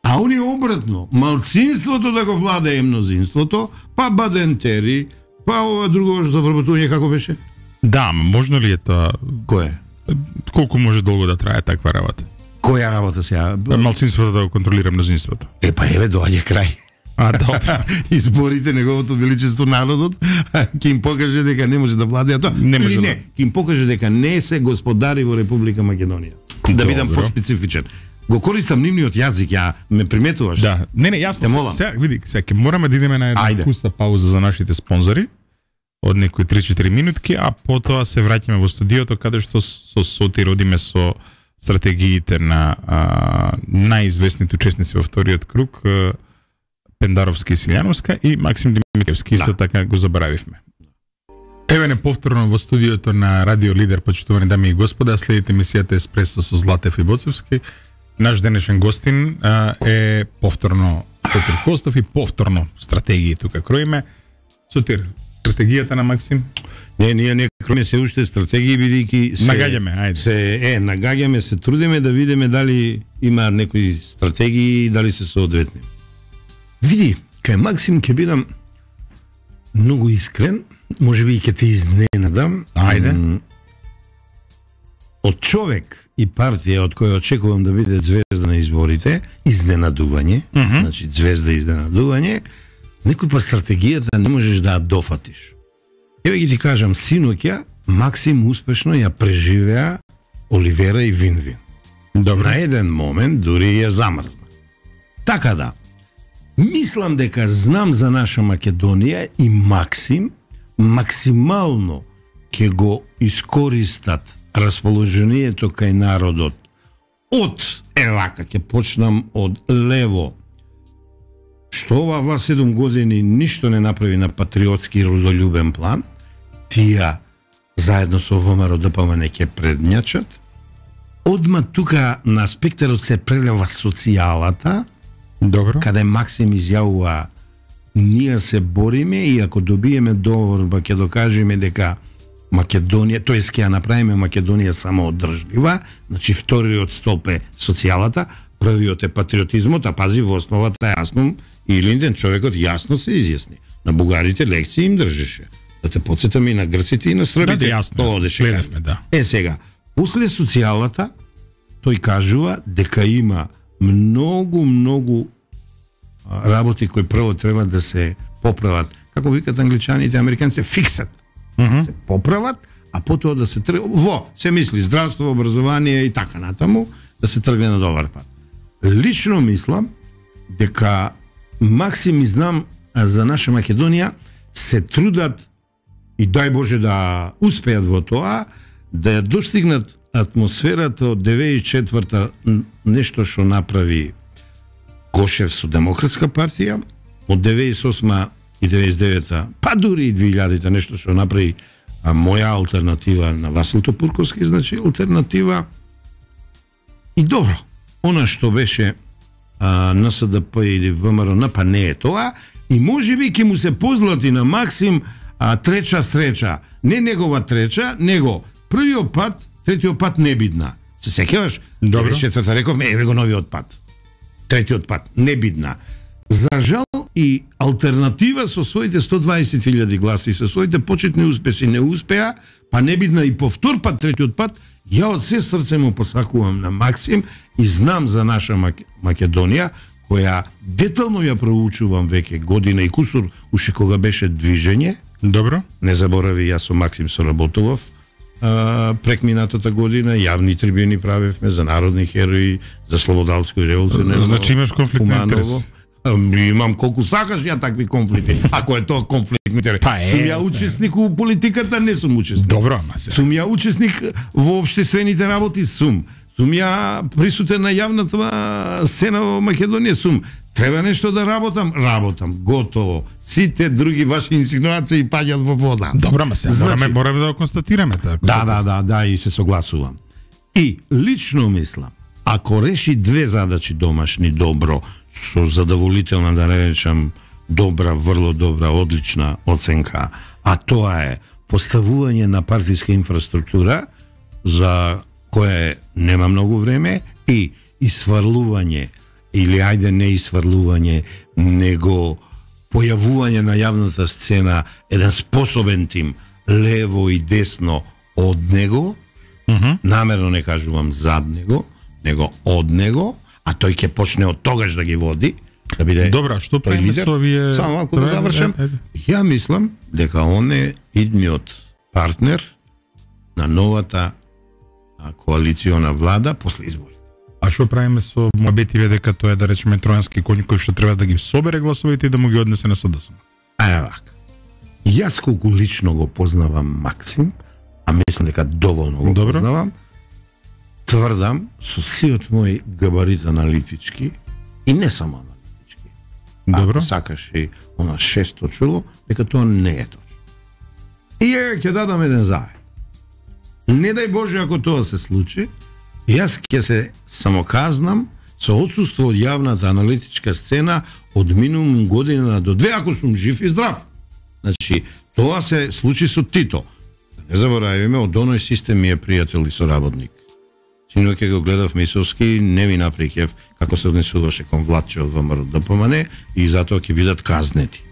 А они обратно, малцинството да го владее мнозинството, па бадентери, па ова друго за вработување како беше? Да, можно ли е тоа? Кој? Колку може долго да трае таква работа? Која работа сега? Малцинството да го контролира мнозинството. Е, па еве, доаѓа крај. А, добро. Изборите, неговото величество народот ќе им покаже дека не може да владеат тоа. Не може. Или не, ќе им покаже дека не се господари во Република Македонија. Да бидам поспецифичен. Го користам нивниот јазик, ја ме приметуваш. Да. Не, не, јасно. Сега, види, сега ќе мораме да идеме на една пуста пауза за нашите спонзори од некои три-четири минутки, а потоа се враќаме во студиото каде што со Соти родиме со стратегиите на а, најизвестните учесници во вториот круг, а, Пендаровски и Силјановска и Максим Димитровски, исто да. Така го заборавивме. Еве не повторно во студиото на Радио Лидер, почитувани дами и господа, следите емисијата Еспресо со Златев и Боцевски. Наш денешен гостин а, е повторно Сотир Костов и повторно стратегии тука кроиме. Сотир, стратегијата на Максим? Не, ние не кроиме се уште стратегии, бидејќи се нагаѓаме, ајде. Се е, нагаѓаме, се трудиме да видиме дали има некои стратегии и дали се соодветни. Види, кај Максим ќе бидам многу искрен, можеби и ќе те изненадам. Ајде. Од човек и партија од која очекувам да биде звезда на изборите, изненадување, mm -hmm. значи звезда изненадување, некој па стратегијата не можеш да ја дофатиш. Еве ги ти кажам, синоќа Максим успешно ја преживеа Оливера и Винвин. Добре. На еден момент дури ја замрзна. Така да, мислам дека знам за наша Македонија и Максим максимално ќе го искористат расположението кај народот од, е вака, ќе почнам од лево, што ова власт седум години ништо не направи на патриотски родолюбен план, тија заедно со ВМРО ДПМН ќе предњачат. Одма тука на спектарот се прелева социјалата, Добро. каде Максим изјавува ние се бориме и ако добиеме договор, ќе докажеме дека Македонија, тоест ќе ја направиме Македонија самоодржлива, значи вториот столб е социјалата, првиот е патриотизмот, а пази во основата јасно и Линден човекот јасно се изјасни. На бугарите лекции им држеше. Да те потсетам и на грците и на србите. Да, да, јасно, Тоа одеше гледавме, да. Е сега, после социјалата тој кажува дека има многу многу а, работи кои прво треба да се поправат. Како викат англичаните, американците, фиксат. Mm -hmm. Се поправат, а потоа да се тргне во, се мисли здравство, образование и така натаму, да се тргне на добар пат. Лично мислам дека Максим и знам за наша Македонија се трудат и дај Боже да успеат во тоа, да ја достигнат атмосферата од деветдесет и четврта нешто што направи Гошев со Демократска партија, од деветдесет и осма и деветдесет и девета, па дури и две илјадите нешто што направи а, моја алтернатива на Васил Топурковски, значи алтернатива. И добро, она што беше а, НСДП или ВМРО, па не е тоа, и можеби ќе му се позлати на Максим а, треча среќа. Не негова треча, него првиот пат, третиот пат не бидна. Се сеќаваш? Добро. деветдесет и четврта рековме, еве го новиот пат. Третиот пат, не бидна. За жал и алтернатива со своите сто дваесет илјади гласи, со своите почетни успеси не успеа, па не бидна и по втор пат, третиот пат, ја од се срце му посакувам на Максим и знам за наша Мак... Македонија, која детално ја проучувам веќе година и кусур, уште кога беше движење. Добро. Не заборави, јас со Максим соработував а, прек минатата година, јавни трибуни правевме за народни херои, за слободалско и револуционерно. Значи имаш конфликт на интерес. Имам колку сакаш ја такви конфликти. Ако е тоа конфликт на интерес. Па е, сум ја учесник у политиката, не сум учесник. Добро, ама се. Сум ја учесник во општествените работи, сум. Сум ја присутен на јавната сцена во Македонија, сум. Треба нешто да работам, работам, готово. Сите други ваши инсинуации паѓаат во вода. Добро, ама се, Значи- мораме, мораме да го констатираме така. Да, да, да, да, и се согласувам. И лично мислам, ако реши две задачи домашни добро, со задоволителна, да речам, добра, врло добра, одлична оценка, а тоа е поставување на партиска инфраструктура, за кое нема многу време, и исврлување, или ајде не исврлување, него појавување на јавната сцена еден способен тим, лево и десно од него, Mm -hmm. намерно не кажувам зад него, него од него, а тој ќе почне од тогаш да ги води, да биде. Добра, што тој правиме лидер. со овие? Само малку да Добре, завршам. е, е. Ја мислам дека он е идниот партнер на новата а, коалициона влада после избори. А што правиме со муабетиве дека тоа е, да речеме, тројански коњ кој што треба да ги собере гласовите и да му ги однесе на СДСМ? А е вака. Јас колку лично го познавам Максим, а мислам дека доволно го Добро. познавам, тврдам со сиот мој габарит аналитички и не само аналитички. Добро. Ако сакаш и она шесто чуло, дека тоа не е точно. И ја ќе дадам еден заед. Не дај Боже ако тоа се случи, јас ќе се самоказнам со отсуство од јавната аналитичка сцена од минимум година до две, ако сум жив и здрав. Значи, тоа се случи со Тито. Не забораваме, од оној систем ми е пријател и соработник. Синоќа го гледав Мисовски, не ми напри кеф како се однесуваше кон Владче од ВМРО ДПМН и затоа ќе бидат казнети.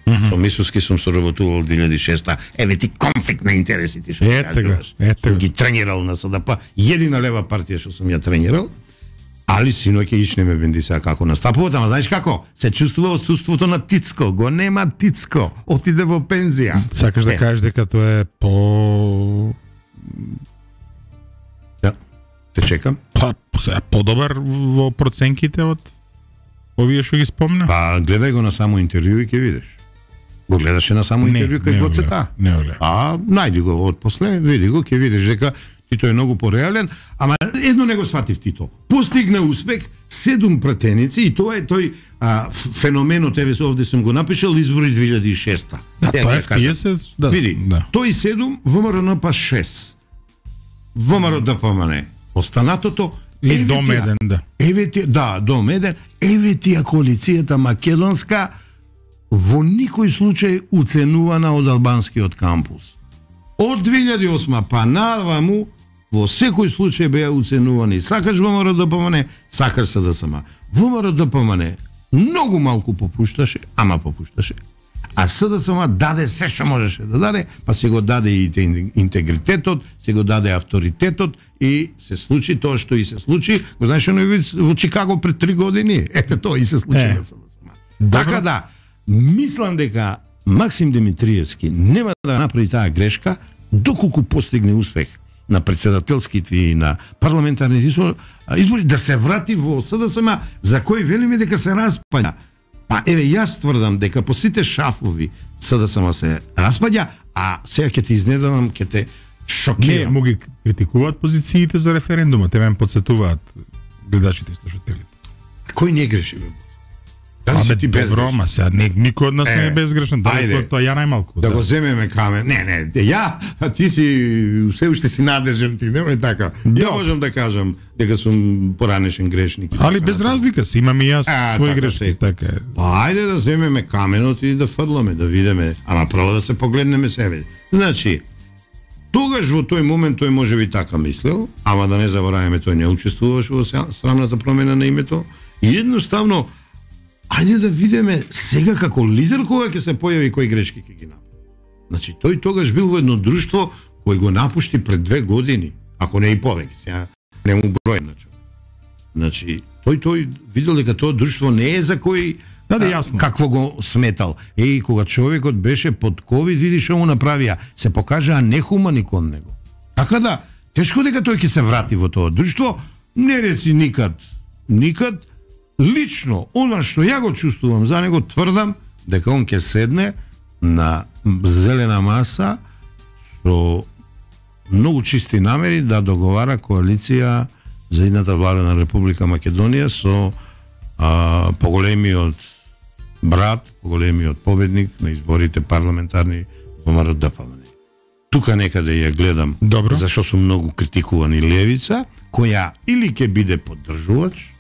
Mm -hmm. Со Мисовски сум соработувал две илјади и шеста. Еве ти конфликт на интересите што Ете го, ете Сум го. ги тренирал на СДП, едина лева партија што сум ја тренирал. Али синоќа иш не ме бенди сега како настапува, ама знаеш како? Се чувствува отсуството на Тицко, го нема Тицко, отиде во пензија. Сакаш да Е. кажеш дека тоа е по... Да. Те чекам. Па, сега подобар во проценките од овие што ги спомна? Па гледај го на само интервју и ќе видиш. Го гледаше на само Не, интервју не кај го го цета. гледам, не го гледам. А најди го од после, види го, ќе видиш дека Тито е многу пореален, ама едно не го сватив Тито. Постигна успех, седум пратеници и тоа е тој а, феноменот, еве овде сум го напишал, избори две илјади и шеста. Да, тоа е петдесет, да. Види, да. тој седум, ВМРО па шест. ВМРО ДПМН останатото и дом еден, да. Еве ти, да, дом еден, еве тија коалицијата македонска во никој случај уценувана од албанскиот кампус. Од две илјади и осма па наваму во секој случај беа уценувани. Сакаш ВМРО ДПМН, сакаш СДСМ. ВМРО ДПМН многу малку попушташе, ама попушташе. А СДСМ даде се што можеше да даде, па се го даде и интегритетот, се го даде авторитетот и се случи тоа што и се случи. Го знаеш во Чикаго пред три години? Ете тоа и се случи е. на СДСМ. Така да, мислам дека Максим Димитриевски нема да направи таа грешка доколку постигне успех на председателските и на парламентарните избори, да се врати во СДСМ, за кој велиме дека се распаѓа. Па еве јас тврдам дека по сите шафови СДСМ се распаѓа, а сега ќе те изненадам, ќе те шокирам. Не, му ги критикуваат позициите за референдумот, те ме подсетуваат гледачите и слушателите. Кој не греши бе? Дали Абе, си ти безгрешен? добро, ма сега не, никој од нас Е, не е безгрешен, тоа ајде, тоа ја најмалку. Да, да го земеме камен. Не, не, ја, а ти си се уште си надежен ти, немај така. Да. Ја можам да кажам дека сум поранешен грешник. Али без разлика си, имам и јас А, своји така грешки, се. така е. Па ајде да земеме каменот и да фрламе, да видиме, ама прво да се погледнеме себе. Значи, тогаш во тој момент тој може би така мислел, ама да не забораваме, тој не учествуваше во срамната промена на името и едноставно ајде да видиме сега како лидер кога ќе се појави кои грешки ќе ги направи. Значи тој тогаш бил во едно друштво кој го напушти пред две години, ако не и повеќе, сега не му број значи. Значи тој тој видел дека тоа друштво не е за кој Да, да, јасно. какво го сметал. Еј, кога човекот беше под ковид, види што му направија, се покажаа нехумани кон него. Така да, тешко дека тој ќе се врати во тоа друштво, не реци никад, никад. Лично, она што ја го чувствувам за него, тврдам дека он ќе седне на зелена маса со многу чисти намери да договара коалиција за едната влада на Република Македонија со а, поголемиот брат, поголемиот победник на изборите парламентарни ВМРО ДПМН. Тука некаде ја гледам, Добро. зашо сум многу критикувани левица, која или ќе биде поддржувач,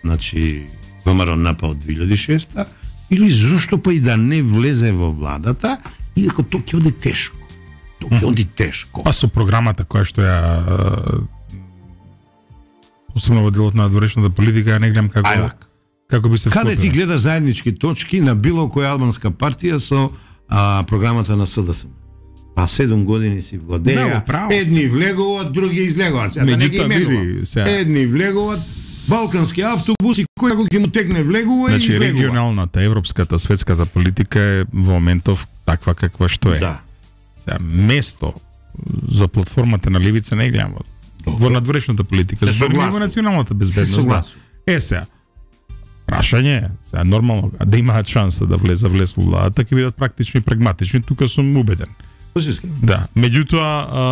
значи ВМРО напал две илјади и шеста, или зошто па и да не влезе во владата, иако тоа ќе оди тешко. Тоа ќе оди тешко. Па со програмата која што ја а, посебно во делот на надворешната политика, ја не гледам како Ајвак. како би се Каде ти вклопила. гледаш заеднички точки на било која албанска партија со а, програмата на СДСМ? Па седум години си Да, владеја, во право си. едни влегуваат, други излегуваат. Сега да не ги Меѓутоа, види, именувам. сега. Едни влегуваат, балкански автобуси, кој ако ќе му текне влегува и Значи излегува. регионалната, европската, светската политика е во моментов таква каква што е. Да. Сега место за платформата на левица не гледам во, во надворешната политика, Се за во согласувам. националната Се безбедност. Да. согласувам. Е сега. Прашање, е, сега нормално, а да имаат шанса да влезе влез во владата, ќе бидат практични и прагматични, тука сум убеден. Да, меѓутоа а,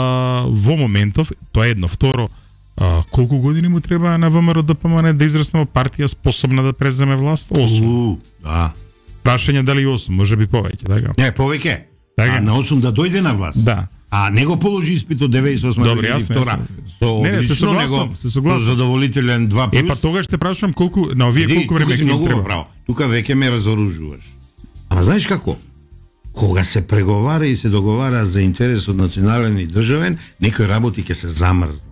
во моментов тоа е едно, второ, а, колку години му треба на ВМРО ДПМН да израсне во партија способна да преземе власт? осум. У, да. Прашање дали осум, може би повеќе, така? Не, повеќе. Така. А на осум да дојде на власт. Да. А не го положи испит од деветдесет и осма Добре, две илјади и втора. јасно, Со Не, не, се одлично, согласувам, него се согласувам. со задоволителен два плюс. Е, па тогаш те прашувам колку, на овие Види, колку време тука си ќе им многу треба? право. Тука веќе ме разоружуваш. Ама знаеш како? Кога се преговара и се договара за интересот национален и државен, некои работи ќе се замрзнат.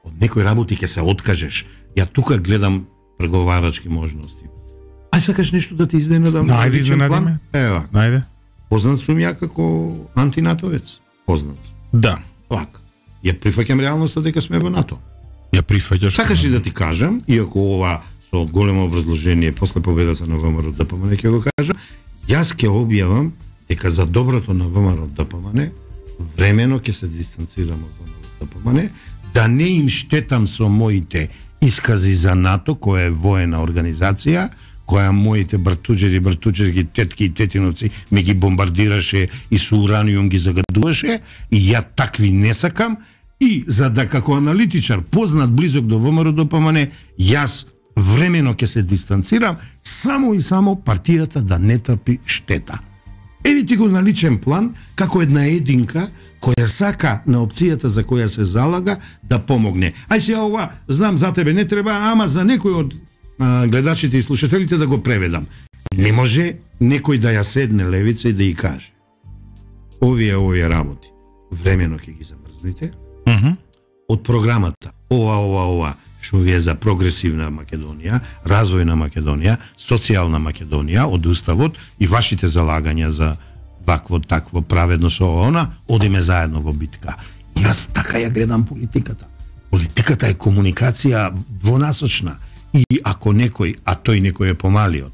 Од некои работи ќе се откажеш. Ја тука гледам преговарачки можности. Ај сакаш нешто да те изненадам? Да, на ајде личен план? изненади ме. Ева, Најде. познат сум ја како антинатовец. Познат. Да. Лак. Ја прифаќам реалноста дека сме во НАТО. Ја прифаќаш. Сакаш ли да ти кажам, иако ова со големо образложение после победата на ВМРО ДПМН ќе го кажам, јас ќе објавам дека за доброто на ВМРО ДПМН времено ќе се дистанцирам од ВМРО ДПМН, да не им штетам со моите искази за НАТО, која е воена организација, која моите братуџери, братуџерки, тетки и тетиновци ми ги бомбардираше и со ураниум ги загадуваше, и ја такви не сакам, И за да како аналитичар познат близок до ВМРО Д П М Н, јас времено ќе се дистанцирам само и само партијата да не трпи штета. Еви ти го наличен план како една единка која сака на опцијата за која се залага да помогне. Ај сега ова, знам за тебе не треба, ама за некој од а, гледачите и слушателите да го преведам. Не може некој да ја седне левица и да ја каже: овие овие работи времено ќе ги замрзните. Uh -huh. Од програмата ова ова ова што ви е за прогресивна Македонија, развојна Македонија, социјална Македонија од уставот и вашите залагања за вакво такво праведно со она, одиме заедно во битка. Јас така ја гледам политиката. Политиката е комуникација двонасочна и ако некој, а тој некој е помалиот,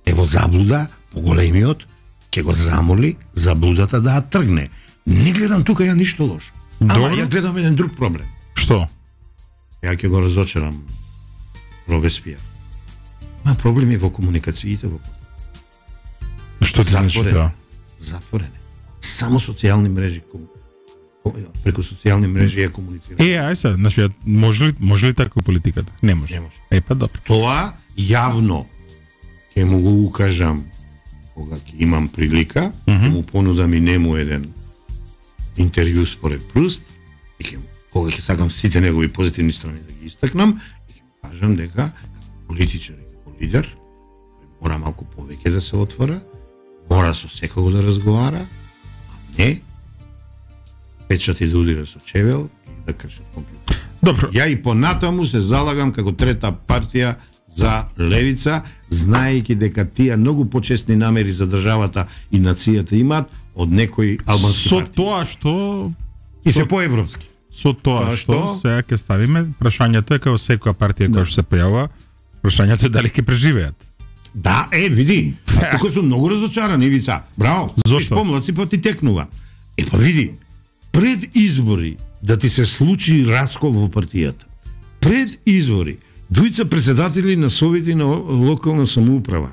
е во заблуда, поголемиот ќе го замоли заблудата да ја тргне. Не гледам тука ја ништо лошо. Ама ја гледам еден друг проблем. Што? Ја ќе го разочарам Робеспиер. Ма проблеми во комуникациите во Што ти значи тоа? Затворене. Само социјални мрежи преку социјални мрежи ја комуницира. Е, ај се, значи може ли може ли така политиката? Не може. Не може. Е, па добро. Тоа јавно ќе му го укажам кога ќе имам прилика, mm -hmm. му понудам и нему еден интервју според Пруст и ќе кога ќе сакам сите негови позитивни страни да ги истакнам и ќе му кажам дека политичар и како лидер мора малку повеќе да се отвора, мора со секого да разговара, а не печати да удира со чевел и да крши компјутер. Добро. Ја и понатаму се залагам како трета партија за левица, знаејќи дека тие многу почесни намери за државата и нацијата имаат од некои албански со партии. Со тоа што и се поевропски. Со тоа, тоа што, што сега ќе ставиме, прашањето е како секоја партија да. Која што се појавува, прашањето е дали ќе преживеат. Да, е, види, тука сум многу разочаран, Ивица. Браво. Зошто? Помлаци па ти текнува. Е, па види, пред избори да ти се случи раскол во партијата. Пред избори двојца председатели на совети на локална самоуправа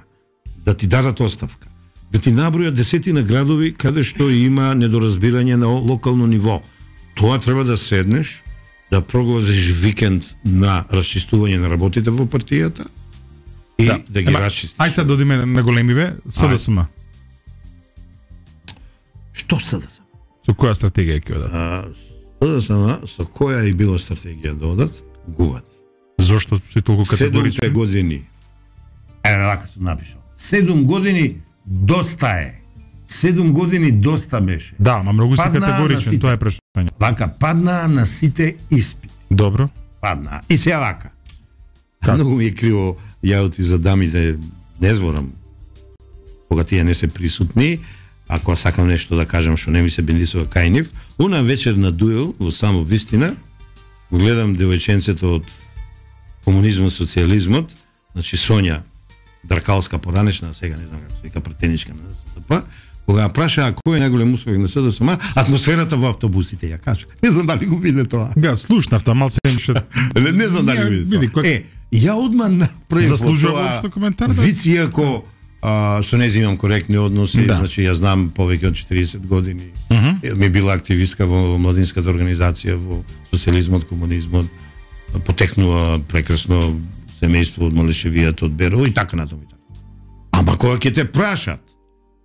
да ти дадат оставка, да ти набројат десетина градови каде што има недоразбирање на локално ниво. Тоа треба да седнеш, да прогласиш викенд на расчистување на работите во партијата и да, да ги расчистиш. Ај сега додиме на големиве, С Д С М. Што С Д С М? Со која стратегија ќе одат? С Д С М, со која и било стратегија да одат, гуват. Зошто си толку категоричен? Седум години. Е, вака сум напишал. Седум години доста е. Седум години доста беше. Да, ма многу си категоричен, тоа е прашање. Вака, падна на сите испити. Добро. Падна. И сега вака. Как? Многу ми е криво јаути за дамите, не зборам, кога тие не се присутни, ако сакам нешто да кажам што не ми се бендисува кај нив, уна вечер на дуел во само вистина, го гледам девојченцето од комунизмот, социјализмот, значи Сонја Дракалска поранешна, сега не знам како се вика пратеничка на С Д П, кога ја прашаа кој е најголем успех на С Д С М, атмосферата во автобусите, ја кажа. Не знам дали го виде тоа. Да, слушнав тоа малце имаше. не, не знам дали го виде тоа. Е, ја одма направив заслужува што коментар. Виц, иако а, со нејзи имам коректни односи, да. Значи ја знам повеќе од четириесет години. Uh -huh. Ми била активистка во младинската организација, во социјализмот, комунизмот, потекнува прекрасно семејство од Малешевијата, од Берово и така натаму и така. Ама кога ќе те прашат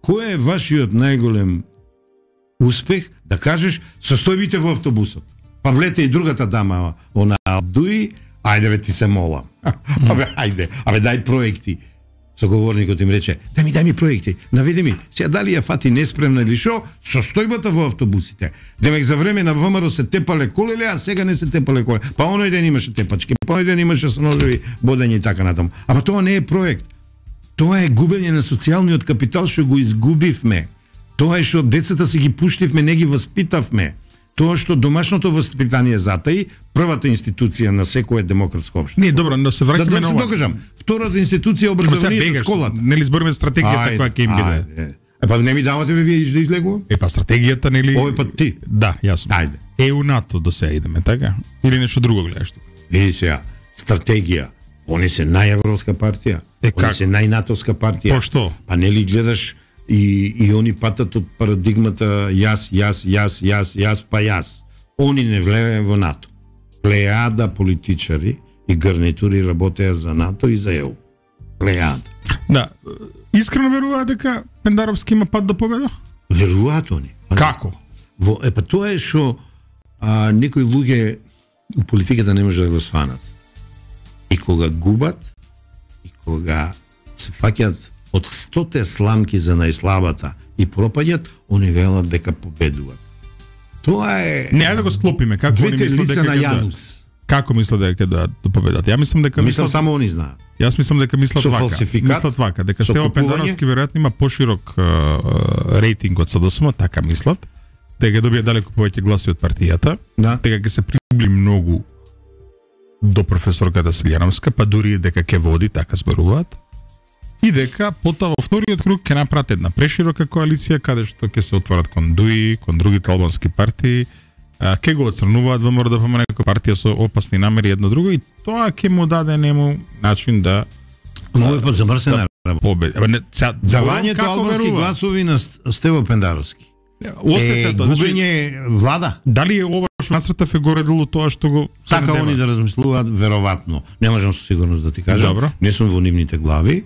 кој е вашиот најголем успех, да кажеш состојбите во автобусот. Па влете и другата дама, она Абдуи, ајде бе ти се молам. Абе ајде, абе дај проекти. Соговорникот им рече: "Дај ми, дај ми проекти, наведи ми, сега дали ја фати неспремна или шо, состојбата во автобусите. Демек за време на ВМРО се тепале колеле, а сега не се тепале колеле. Па оној ден имаше тепачки, па оној ден имаше со ножеви бодење и така натаму. Ама тоа не е проект. Тоа е губење на социјалниот капитал што го изгубивме. Тоа е што децата си ги пуштивме, не ги воспитавме. Тоа што домашното воспитание затаи, првата институција на секое демократско општество. Не, добро, но се враќаме да, да на ова. Да се докажам. Втората институција образованието, школата. Нели збориме стратегијата која ќе им биде. Е па не ми давате ве вие да излегувам? Е па стратегијата нели? Овој пат ти. Да, јасно. Ајде. Е у НАТО до сега идеме, така? Или нешто друго гледаш тука? Види сега, стратегија. Они се најевропска партија. Е, они се најнатовска партија. По што? Па нели гледаш и и они патат од парадигмата јас, јас, јас, јас, јас, па јас. они не влееме во НАТО. Плејада политичари и гарнитури работеа за НАТО и за ЕУ. Плејада. Да, искрено веруваат дека Пендаровски има пат до победа? Веруваат они. Како? Во, е, па тоа е што а, некои луѓе у политиката не може да го сванат. И кога губат, и кога се фаќат од стоте сламки за најслабата и пропаѓат, они велат дека победуваат. Тоа е... Не, ајде да го склопиме. Како двете они мислат лица дека на ќе Јанус. Како мислат дека да до победат? Ја мислам дека Мислам мислат... само они знаат. Јас мислам дека мислат Со вака. фалсификат, Мислат вака, дека со Стево купување. Пендаровски веројатно има поширок uh, рейтинг од СДСМ, така мислат. Дека ќе добие далеку повеќе гласови од партијата. Да. Дека ќе се приближи многу до професорката Силјановска, па дури дека ќе води, така зборуваат. И дека потоа во вториот круг ќе направат една преширока коалиција каде што ќе се отворат кон ДУИ, кон другите албански партии, ќе го отсрнуваат ВМРО да помне како партија со опасни намери едно друго и тоа ќе му даде нему начин да Но е па замрсена да победи. Абе не, сега давањето албански гласови на Стево Пендаровски. Осте Е се тоа. губење влада. Дали е ова што нацртав е горе долу тоа што го Така они да размислуваат веројатно. Не можам со сигурност да ти кажам. Добро. Не сум во нивните глави.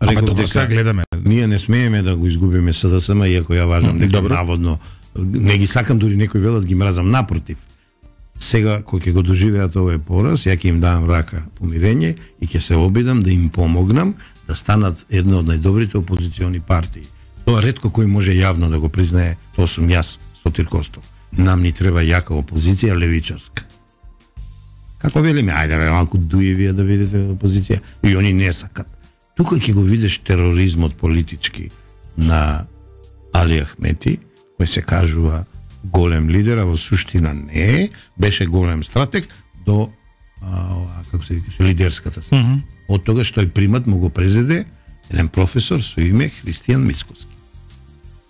Ама Реков добро, сега дека гледаме. ние не смееме да го изгубиме СДСМ, иако ја важам дека Добро. наводно не ги сакам, дури некои велат ги мразам, напротив. Сега кој ќе го доживеат овој пораз, ја ќе им давам рака помирење и ќе се обидам да им помогнам да станат една од најдобрите опозициони партии. Тоа ретко кој може јавно да го признае, тоа сум јас, Сотир Костов. Нам ни треба јака опозиција левичарска. Како велиме, ајде бе, малку дуевија да видите опозиција, и они не сакат. Тука ќе го видиш тероризмот политички на Али Ахмети, кој се кажува голем лидер, а во суштина не е, беше голем стратег до а, како се викаше, лидерската се. Mm -hmm. Од тогаш тој примат му го презеде еден професор со име Христијан Мицкоски.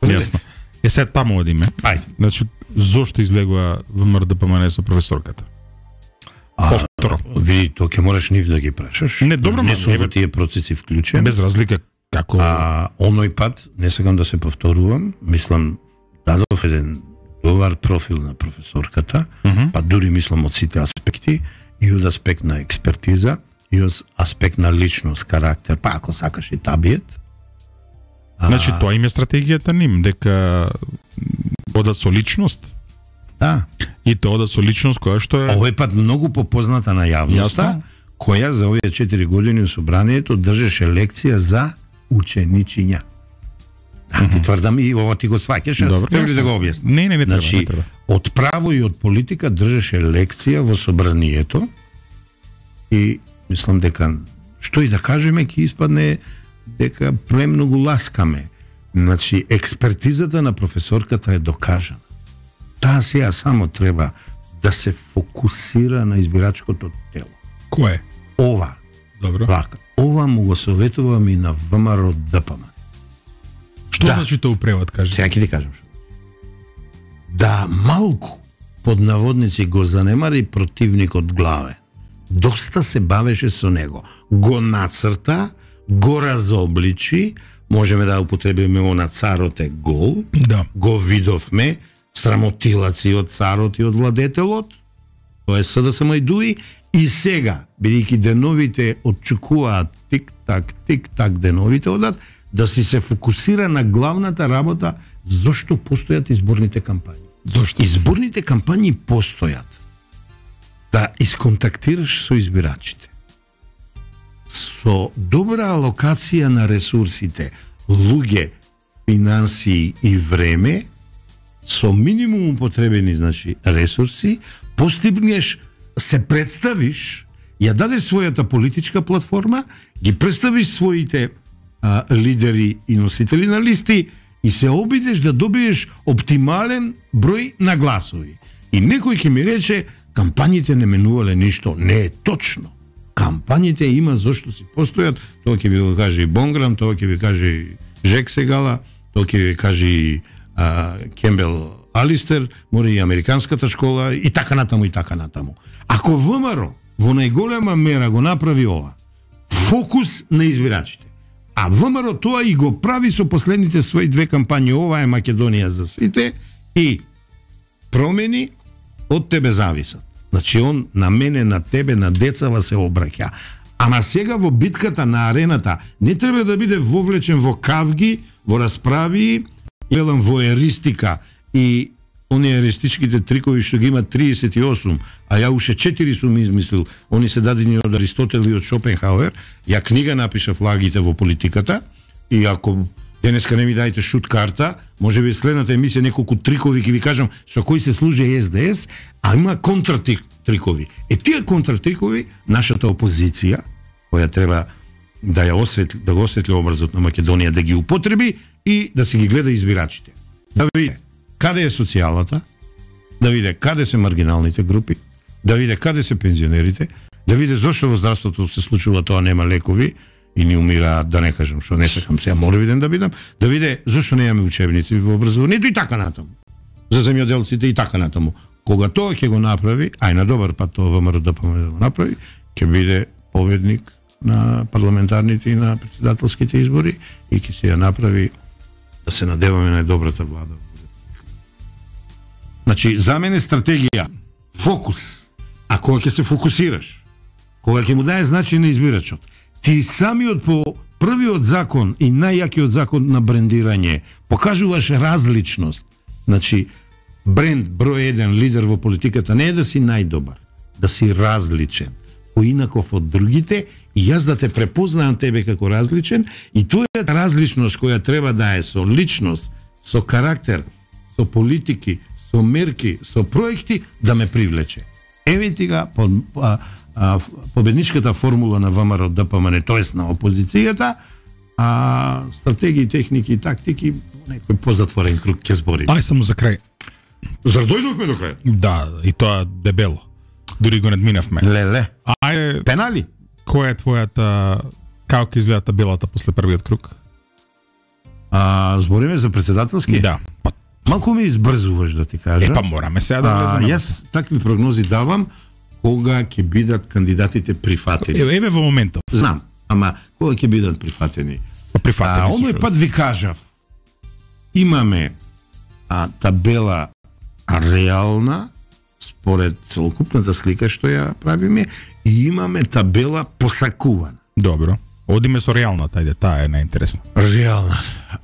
Јасно. Е сед таму одиме. Ајде. Значи, зошто излегува ВМРО да помане со професорката? Повторо. Види, тоа ќе мораш нив да ги прашаш. Не, добро, не ма, сум еве- во тие процеси вклучен. Без разлика како А оној пат, не сакам да се повторувам, мислам, дадов еден добар профил на професорката, Mm -hmm. па дури мислам од сите аспекти, и од аспект на експертиза, и од аспект на личност, карактер, па ако сакаш и табиет. Значи, тоа им е стратегијата ним, дека одат со личност, Да, и тоа одат со личност која што е... овој пат многу попозната на јавноста, Јасно. која за овие четири години у собранието држеше лекција за ученичиња. Да, ти тврдам и ова ти го сваќаш, Добро, треба ли да јасно. го објаснам? Не, не, не треба, Значи, не треба. од право и од политика држеше лекција во собранието и мислам дека што и да кажеме ќе испадне дека премногу ласкаме. Значи, експертизата на професорката е докажана. Таа сега само треба да се фокусира на избирачкото тело. Кое? Ова, Добро. вака, ова му го советувам и на ВМРО ДПМ. Што Да. значи тоа у превод, кажи? Сега ќе ти кажам што. Да малку под наводници го занемари противникот главен. Доста се бавеше со него. Го нацрта, го разобличи, можеме да употребиме она царот е гол, Да. го видовме, срамотилаци од царот и од владетелот, тоа е СДСМ и ДУИ, и сега, бидејќи деновите отчекуваат тик-так, тик-так деновите одат, да си се фокусира на главната работа, зошто постојат изборните кампањи. Зошто? Изборните кампањи постојат да исконтактираш со избирачите. Со добра алокација на ресурсите, луѓе, финансии и време, со минимум употребени, значи, ресурси, постигнеш, се представиш, ја дадеш својата политичка платформа, ги представиш своите а, лидери и носители на листи и се обидеш да добиеш оптимален број на гласови. И некој ќе ми рече, кампањите не менувале ништо. Не е точно. Кампањите има зошто си постојат, тоа ќе ви го каже и Бонграм, тоа ќе ви каже и Жек Сегала, тоа ќе ви каже и а, Кембел Алистер, мори и американската школа и така натаму и така натаму. Ако ВМРО во најголема мера го направи ова, фокус на избирачите, а ВМРО тоа и го прави со последните своји две кампањи, ова е Македонија за сите, и промени од тебе зависат. Значи он на мене, на тебе, на децава се обраќа. Ама сега во битката на арената не треба да биде вовлечен во кавги, во расправи, велам во еристика и оние еристичките трикови што ги има триесет и осум, а ја уште четири сум измислил, они се дадени од Аристотел и од Шопенхауер. Ја книга напишав Лагите во политиката и ако денеска не ми дајте шут карта, може би следната емисија неколку трикови ќе ви кажам со кои се служи Ес Де Ес, а има контратрикови. Е тие контратрикови нашата опозиција која треба да ја осветли, да го осветли образот на Македонија, да ги употреби и да си ги гледа избирачите. Да види каде е социјалата, да види каде се маргиналните групи, да види каде се пензионерите, да види зошто во здравството се случува тоа, нема лекови и ни умираат, да не кажам што не сакам сега моревиден да бидам, да види зошто немаме учебници во образованието и така натаму. За земјоделците и така натаму. Кога тоа ќе го направи, ај на добар пат тоа ВМРО да помоне да го направи, ќе биде победник на парламентарните и на председателските избори и ќе се ја направи, да се надеваме на добрата влада. Значи, за мене стратегија, фокус. А кога ќе се фокусираш, кога ќе му даje значај на избирачот, ти самиот по првиот закон и најјакиот закон на брендирање покажуваш различност. Значи, бренд број еден лидер во политиката не е да си најдобар, да си различен, поинаков од другите, и јас да те препознавам тебе како различен, и твојата различност која треба да е со личност, со карактер, со политики, со мерки, со проекти, да ме привлече. Еве ти га по, а, а, победничката формула на ВМРО Д П М Н, тоест на опозицијата, а стратегии, техники и тактики, некој позатворен круг ќе збори. Ај само за крај. Зар дојдовме до крај? Да, и тоа дебело. Дури го надминавме. Леле. Ајде, Пенали? која е твојата, како ќе изгледа табелата после првиот круг? А, збориме за председателски? Да. Па, Малку ми избрзуваш, да ти кажа. е, па мораме сега да влеземе. Јас такви прогнози давам кога ќе бидат кандидатите прифатени. Еве, еве во моментов. Знам, ама кога ќе бидат прифатени? Па прифатени А, се. овој шо? пат ви кажав, имаме а, табела реална, според целокупната слика што ја правиме, и имаме табела посакувана. Добро. Одиме со реалната, ајде, таа е најинтересна. Реална.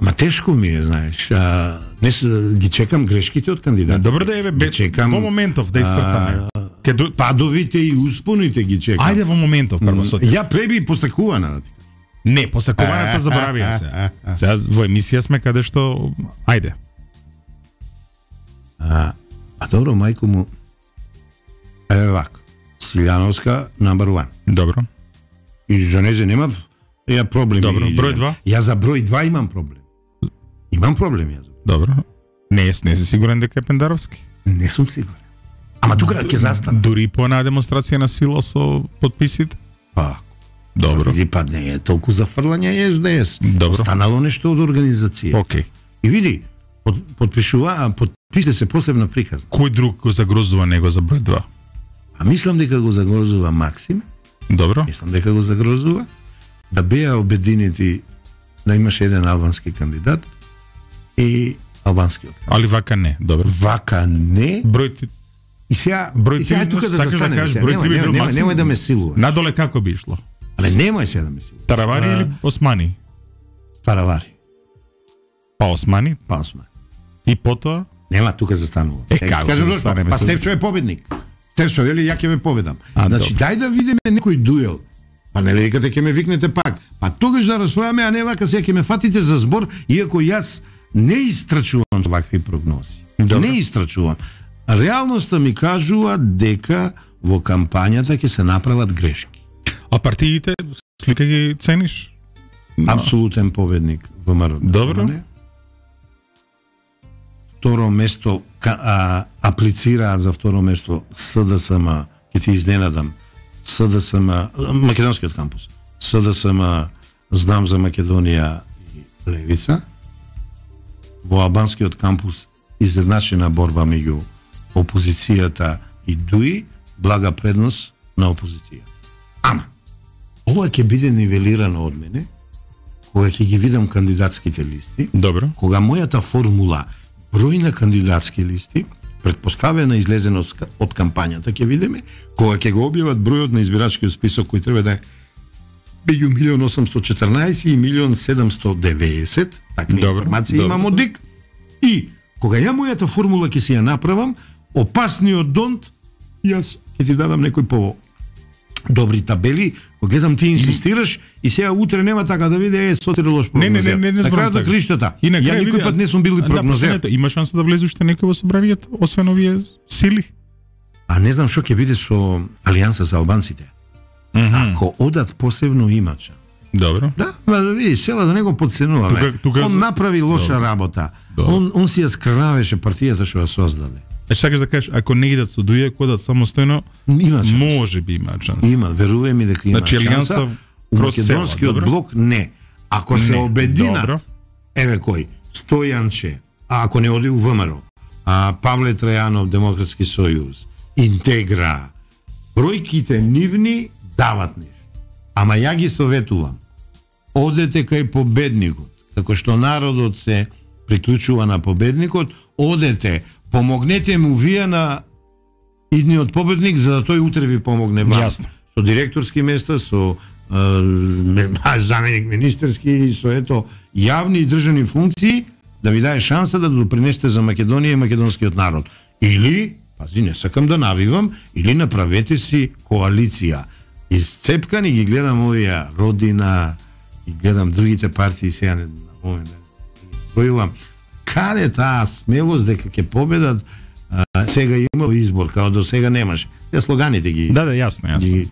Ма тешко ми е, знаеш. А, не се, ги чекам грешките од кандидатите. Добро да еве бе, чекам, во моментов да исцртаме. Ке ду... Падовите и успоните ги чекам. Ајде во моментов прво со тебе. Ја преби посакувана, да ти кажам. Не, посакуваната заборавија се. Сега во емисија сме каде што ајде. А, а добро, мајко му, еве вако, Силјановска number one. Добро. И за незе немав ја проблеми. Добро, број два? Ја за број два имам проблем. Имам проблем ја. Добро. Не, не си сигурен дека е Пендаровски? Не сум сигурен. Ама тука ќе застана. Дури по една демонстрација на сила со подписите? Па, Добро. види, па не е толку за фрлање Ес Де Ес. Добро. Останало нешто од организација. Океј. И види, под, подпишува, подписите се посебна приказна. Кој друг го загрозува него за број два? А мислам дека го загрозува Максим, Добро. мислам дека го загрозува, да беа обединети да имаше еден албански кандидат и албанскиот кандидат. Али вака не, добро. Вака не. Број ти... И сега, Број и сега три, тука да сакаш да застанеме. кажеш, сега. број Немој, три би немој, бил немој, Максим? немој да ме силуваш. Надоле како би ишло? Але немој сега да ме силуваш. Таравари А, или Османи? Таравари. Па Османи Па осма. и потоа? Нема тука застанува. Е, Сега како кажам да зашто? застанеме Па со- Стефчо е победник. Стефчо, вели, ја ќе ве победам. А, Значи, добро. дај да видиме некој дуел. Па нели викате ќе ме викнете пак. Па тогаш да расправаме, а не вака сега ќе ме фатите за збор, иако јас не истрачувам вакви прогнози. Добро. Не истрачувам. Реалноста ми кажува дека во кампањата ќе се направат грешки. А партиите, слика ги цениш? Апсолутен победник во ВМРО. Добро. Второ место ка, а, аплицираат за второ место С Д С М, ќе ти изненадам. С Д С М, македонскиот кампус. С Д С М, Знам за Македонија и Левица. Во албанскиот кампус изедначена борба меѓу опозицијата и ДУИ, блага предност на опозицијата. Ама, ова ќе биде нивелирано од мене, кога ќе ги видам кандидатските листи, Добро. кога мојата формула број на кандидатски листи предпоставена излезеност од кампањата, ќе видиме, кога ќе го објават бројот на избирачкиот список кој треба да е меѓу милион осумстотини и четрнаесет и милион седумстотини и деветдесет, такви информации имам од ДИК, и кога ја мојата формула ќе си ја направам, опасниот донт, јас ќе ти дадам некој по добри табели, кога гледам ти инсистираш и сега утре нема така да види е сотире лош прогнозер. Не, не, не, не, на крајот на криштата. И на ја никој пат не сум бил прогнозер. Има шанса да влезе уште некој во собранието, освен овие сили? А не знам што ќе биде со Алијанса за албанците. Mm -hmm. Ако одат посебно има шанс. Добро. Да, ма да видиш, села да не го подценуваме. Тука, тука... Он направи лоша Добро. работа. Добро. Он, он си ја скравеше партијата што ја создаде. Е, сакаш да кажеш, ако не идат со дује, кодат самостојно, има шанс. Може би има шанс. Има, верувај ми дека има значи, шанса. У македонскиот блок не. Ако се не. обединат, Добро. еве кој, Стојанче, а ако не оди у ВМРО, а Павле Трајанов, Демократски сојуз, Интегра, бројките нивни дават нешто. Ама ја ги советувам. Одете кај победникот. Како што народот се приклучува на победникот, одете, помогнете му вие на идниот победник за да тој утре ви помогне вам. Јасно. Со директорски места, со е, заменик министерски, со ето јавни и државни функции да ви даде шанса да допринесете за Македонија и македонскиот народ. Или, пази, не сакам да навивам, или направете си коалиција. Исцепкани ги гледам овие Родина и гледам другите партии сега не момент да бројувам. Каде таа смелост дека ќе победат? А, сега има избор, као до сега немаш. Те слоганите ги. Да, да, јасно, јасно. Ги,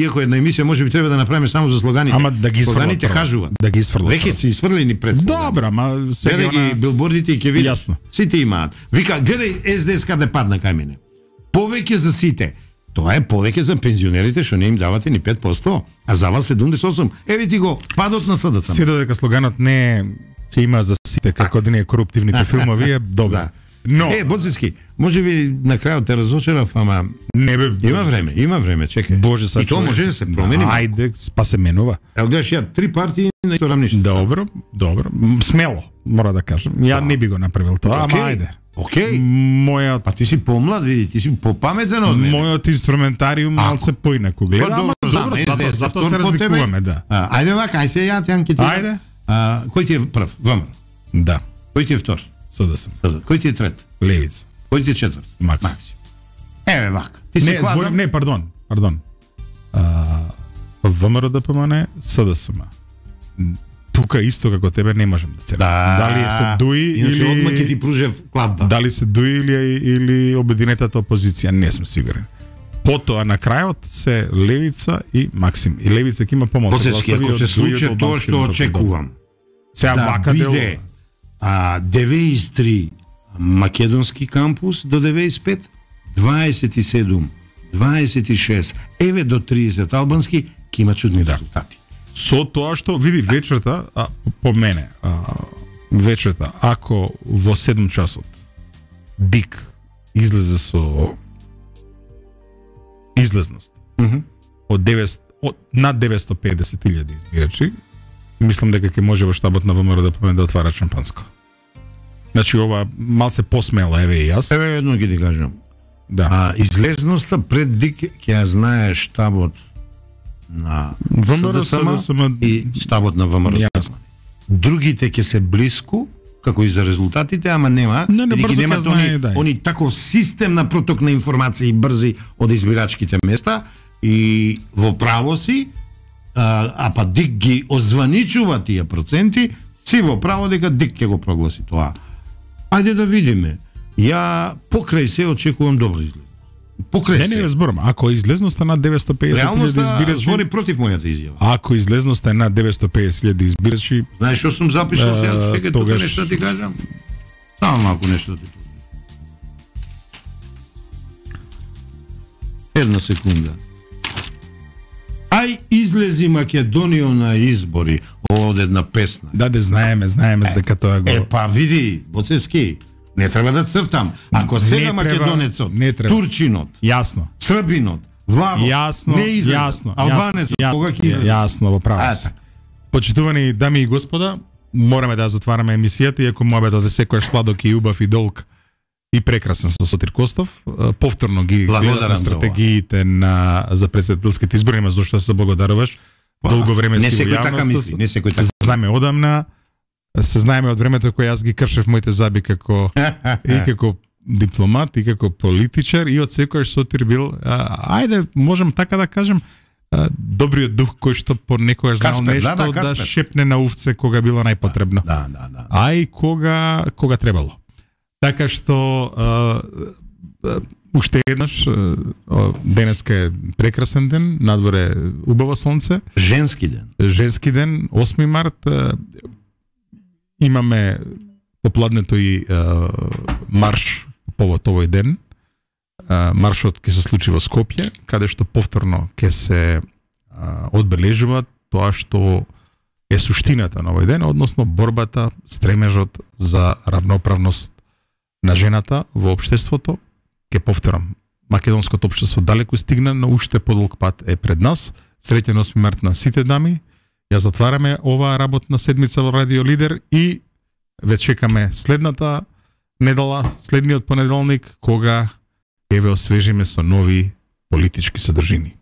иако една емисија може би треба да направиме само за слоганите. Ама да ги слоганите кажуваат. Да ги изфрлат. Веќе се изфрлени пред. Добра, ама сега гледај ги билбордите и ќе видиш. Јасно. Сите имаат. Вика, гледај Ес Де Ес каде падна кај мене. Повеќе за сите. Тоа е повеќе за пензионерите што не им давате ни пет проценти, а за вас седумдесет и осум. Еве ти го падот на СДСМ. Сиро дека слоганот не е ќе има за сите како да не е коруптивните филмови е добро. Да. Но е Боцевски, може би на крајот те разочарав, ама не бе, има време, има време, чекај. Боже, са и тоа може да се промени. Ајде, па се менува. Ево гледаш ја три партии на исто рамниште. Добро, добро, смело, мора да кажам. Ја да. не би го направил тоа, ама ајде. Океј. Мојот па ти си помлад, види, ти си попаметен од мене. Мојот инструментариум малце поинаку гледа, па, ама добро, затоа затоа се разликуваме, да. А, ајде вака, ајде се ја те анкетирам. Ајде. А, кој ти е прв? ВМРО. Да. Кој ти е втор? СДСМ. Кој ти е трет? Левица. Кој ти е четврт? Макс. Макс. Еве вака. Ти се не, зборим, не, пардон, пардон. А, ВМРО да помане СДСМ. Тука исто како тебе не можам да се. Да. Дали се дуи Иначе или одма ќе ти пружев кладба. Дали се дуи или или обединетата опозиција, не сум сигурен. Потоа на крајот се Левица и Максим. И Левица ќе има помалку гласови. Ако се случи тоа што очекувам. Сега да вака биде а деветдесет и три македонски кампус до деветдесет и пет, дваесет и седум, дваесет и шест, еве до тридесет албански, ќе има чудни да. резултати. Со тоа што види вечерта, а, по мене, а, вечерта, ако во седум часот ДИК излезе со излезност mm -hmm. од деветстотини од над деветстотини и педесет илјади избирачи, мислам дека ќе може во штабот на ВМРО да помине да отвара шампанско. Значи ова малце посмела, еве и јас. Еве едно ги ти кажам. Да. А излезноста пред ДИК ќе ја знае штабот на СДСМ и штабот на ВМРО. Другите ќе се блиску, како и за резултатите, ама нема, не, не, бидејќи немаат они, да они таков систем на проток на информации брзи од избирачките места и во право си, а, а па ДИК ги озваничува тие проценти, си во право дека ДИК ќе го прогласи тоа. Ајде да видиме. Ја покрај се очекувам добро изглед. Покрај не, се. Не, не зборам. Ако излезноста на деветстотини и педесет илјади избирачи, збори против мојата изјава. Ако излезноста е на деветстотини и педесет илјади избирачи, знаеш што сум запишал сега, чекај тука тогаш... нешто ти кажам. Само малку нешто ти кажам. Една секунда. Ај излези Македонија на избори, од една песна. Да, да знаеме, знаеме дека тоа го. Е, па види, Боцевски, не треба да цртам. Ако сега македонецот, турчинот, јасно, србинот, ваво, јасно, не излезе, јасно, албанецот, кога ќе излезе? Јасно, во право. Почитувани дами и господа, мораме да затвараме емисијата, иако муабетот е секојаш сладок и убав и долг и прекрасен со Сотир Костов. Повторно ги гледам стратегиите на за претседателските избори, ма зашто се благодаруваш. Долго време не си во јавноста. Така мисли, не секој така. Се знаеме одамна. Се знаеме од времето кога јас ги кршев моите заби како и како дипломат и како политичар и од секојаш Сотир бил, а, ајде, можем така да кажем, а, добриот дух кој што понекогаш знал нешто да, да, да шепне на увце кога било најпотребно. Да, да, да. А и кога кога требало. Така што а, а, уште еднаш а, денеска е прекрасен ден, надворе убаво сонце. Женски ден. Женски ден, осми март. А, имаме попладнето и а, марш повод овој ден. А, маршот ќе се случи во Скопје, каде што повторно ќе се а, одбележува тоа што е суштината на овој ден, односно борбата, стремежот за равноправност на жената во општеството. Ке повторам, македонското општество далеку стигна, но уште подолг пат е пред нас. Среќен осми март на сите дами. Ја затвараме оваа работна седмица во Радио Лидер и ве чекаме следната недела, следниот понеделник, кога ќе ве освежиме со нови политички содржини.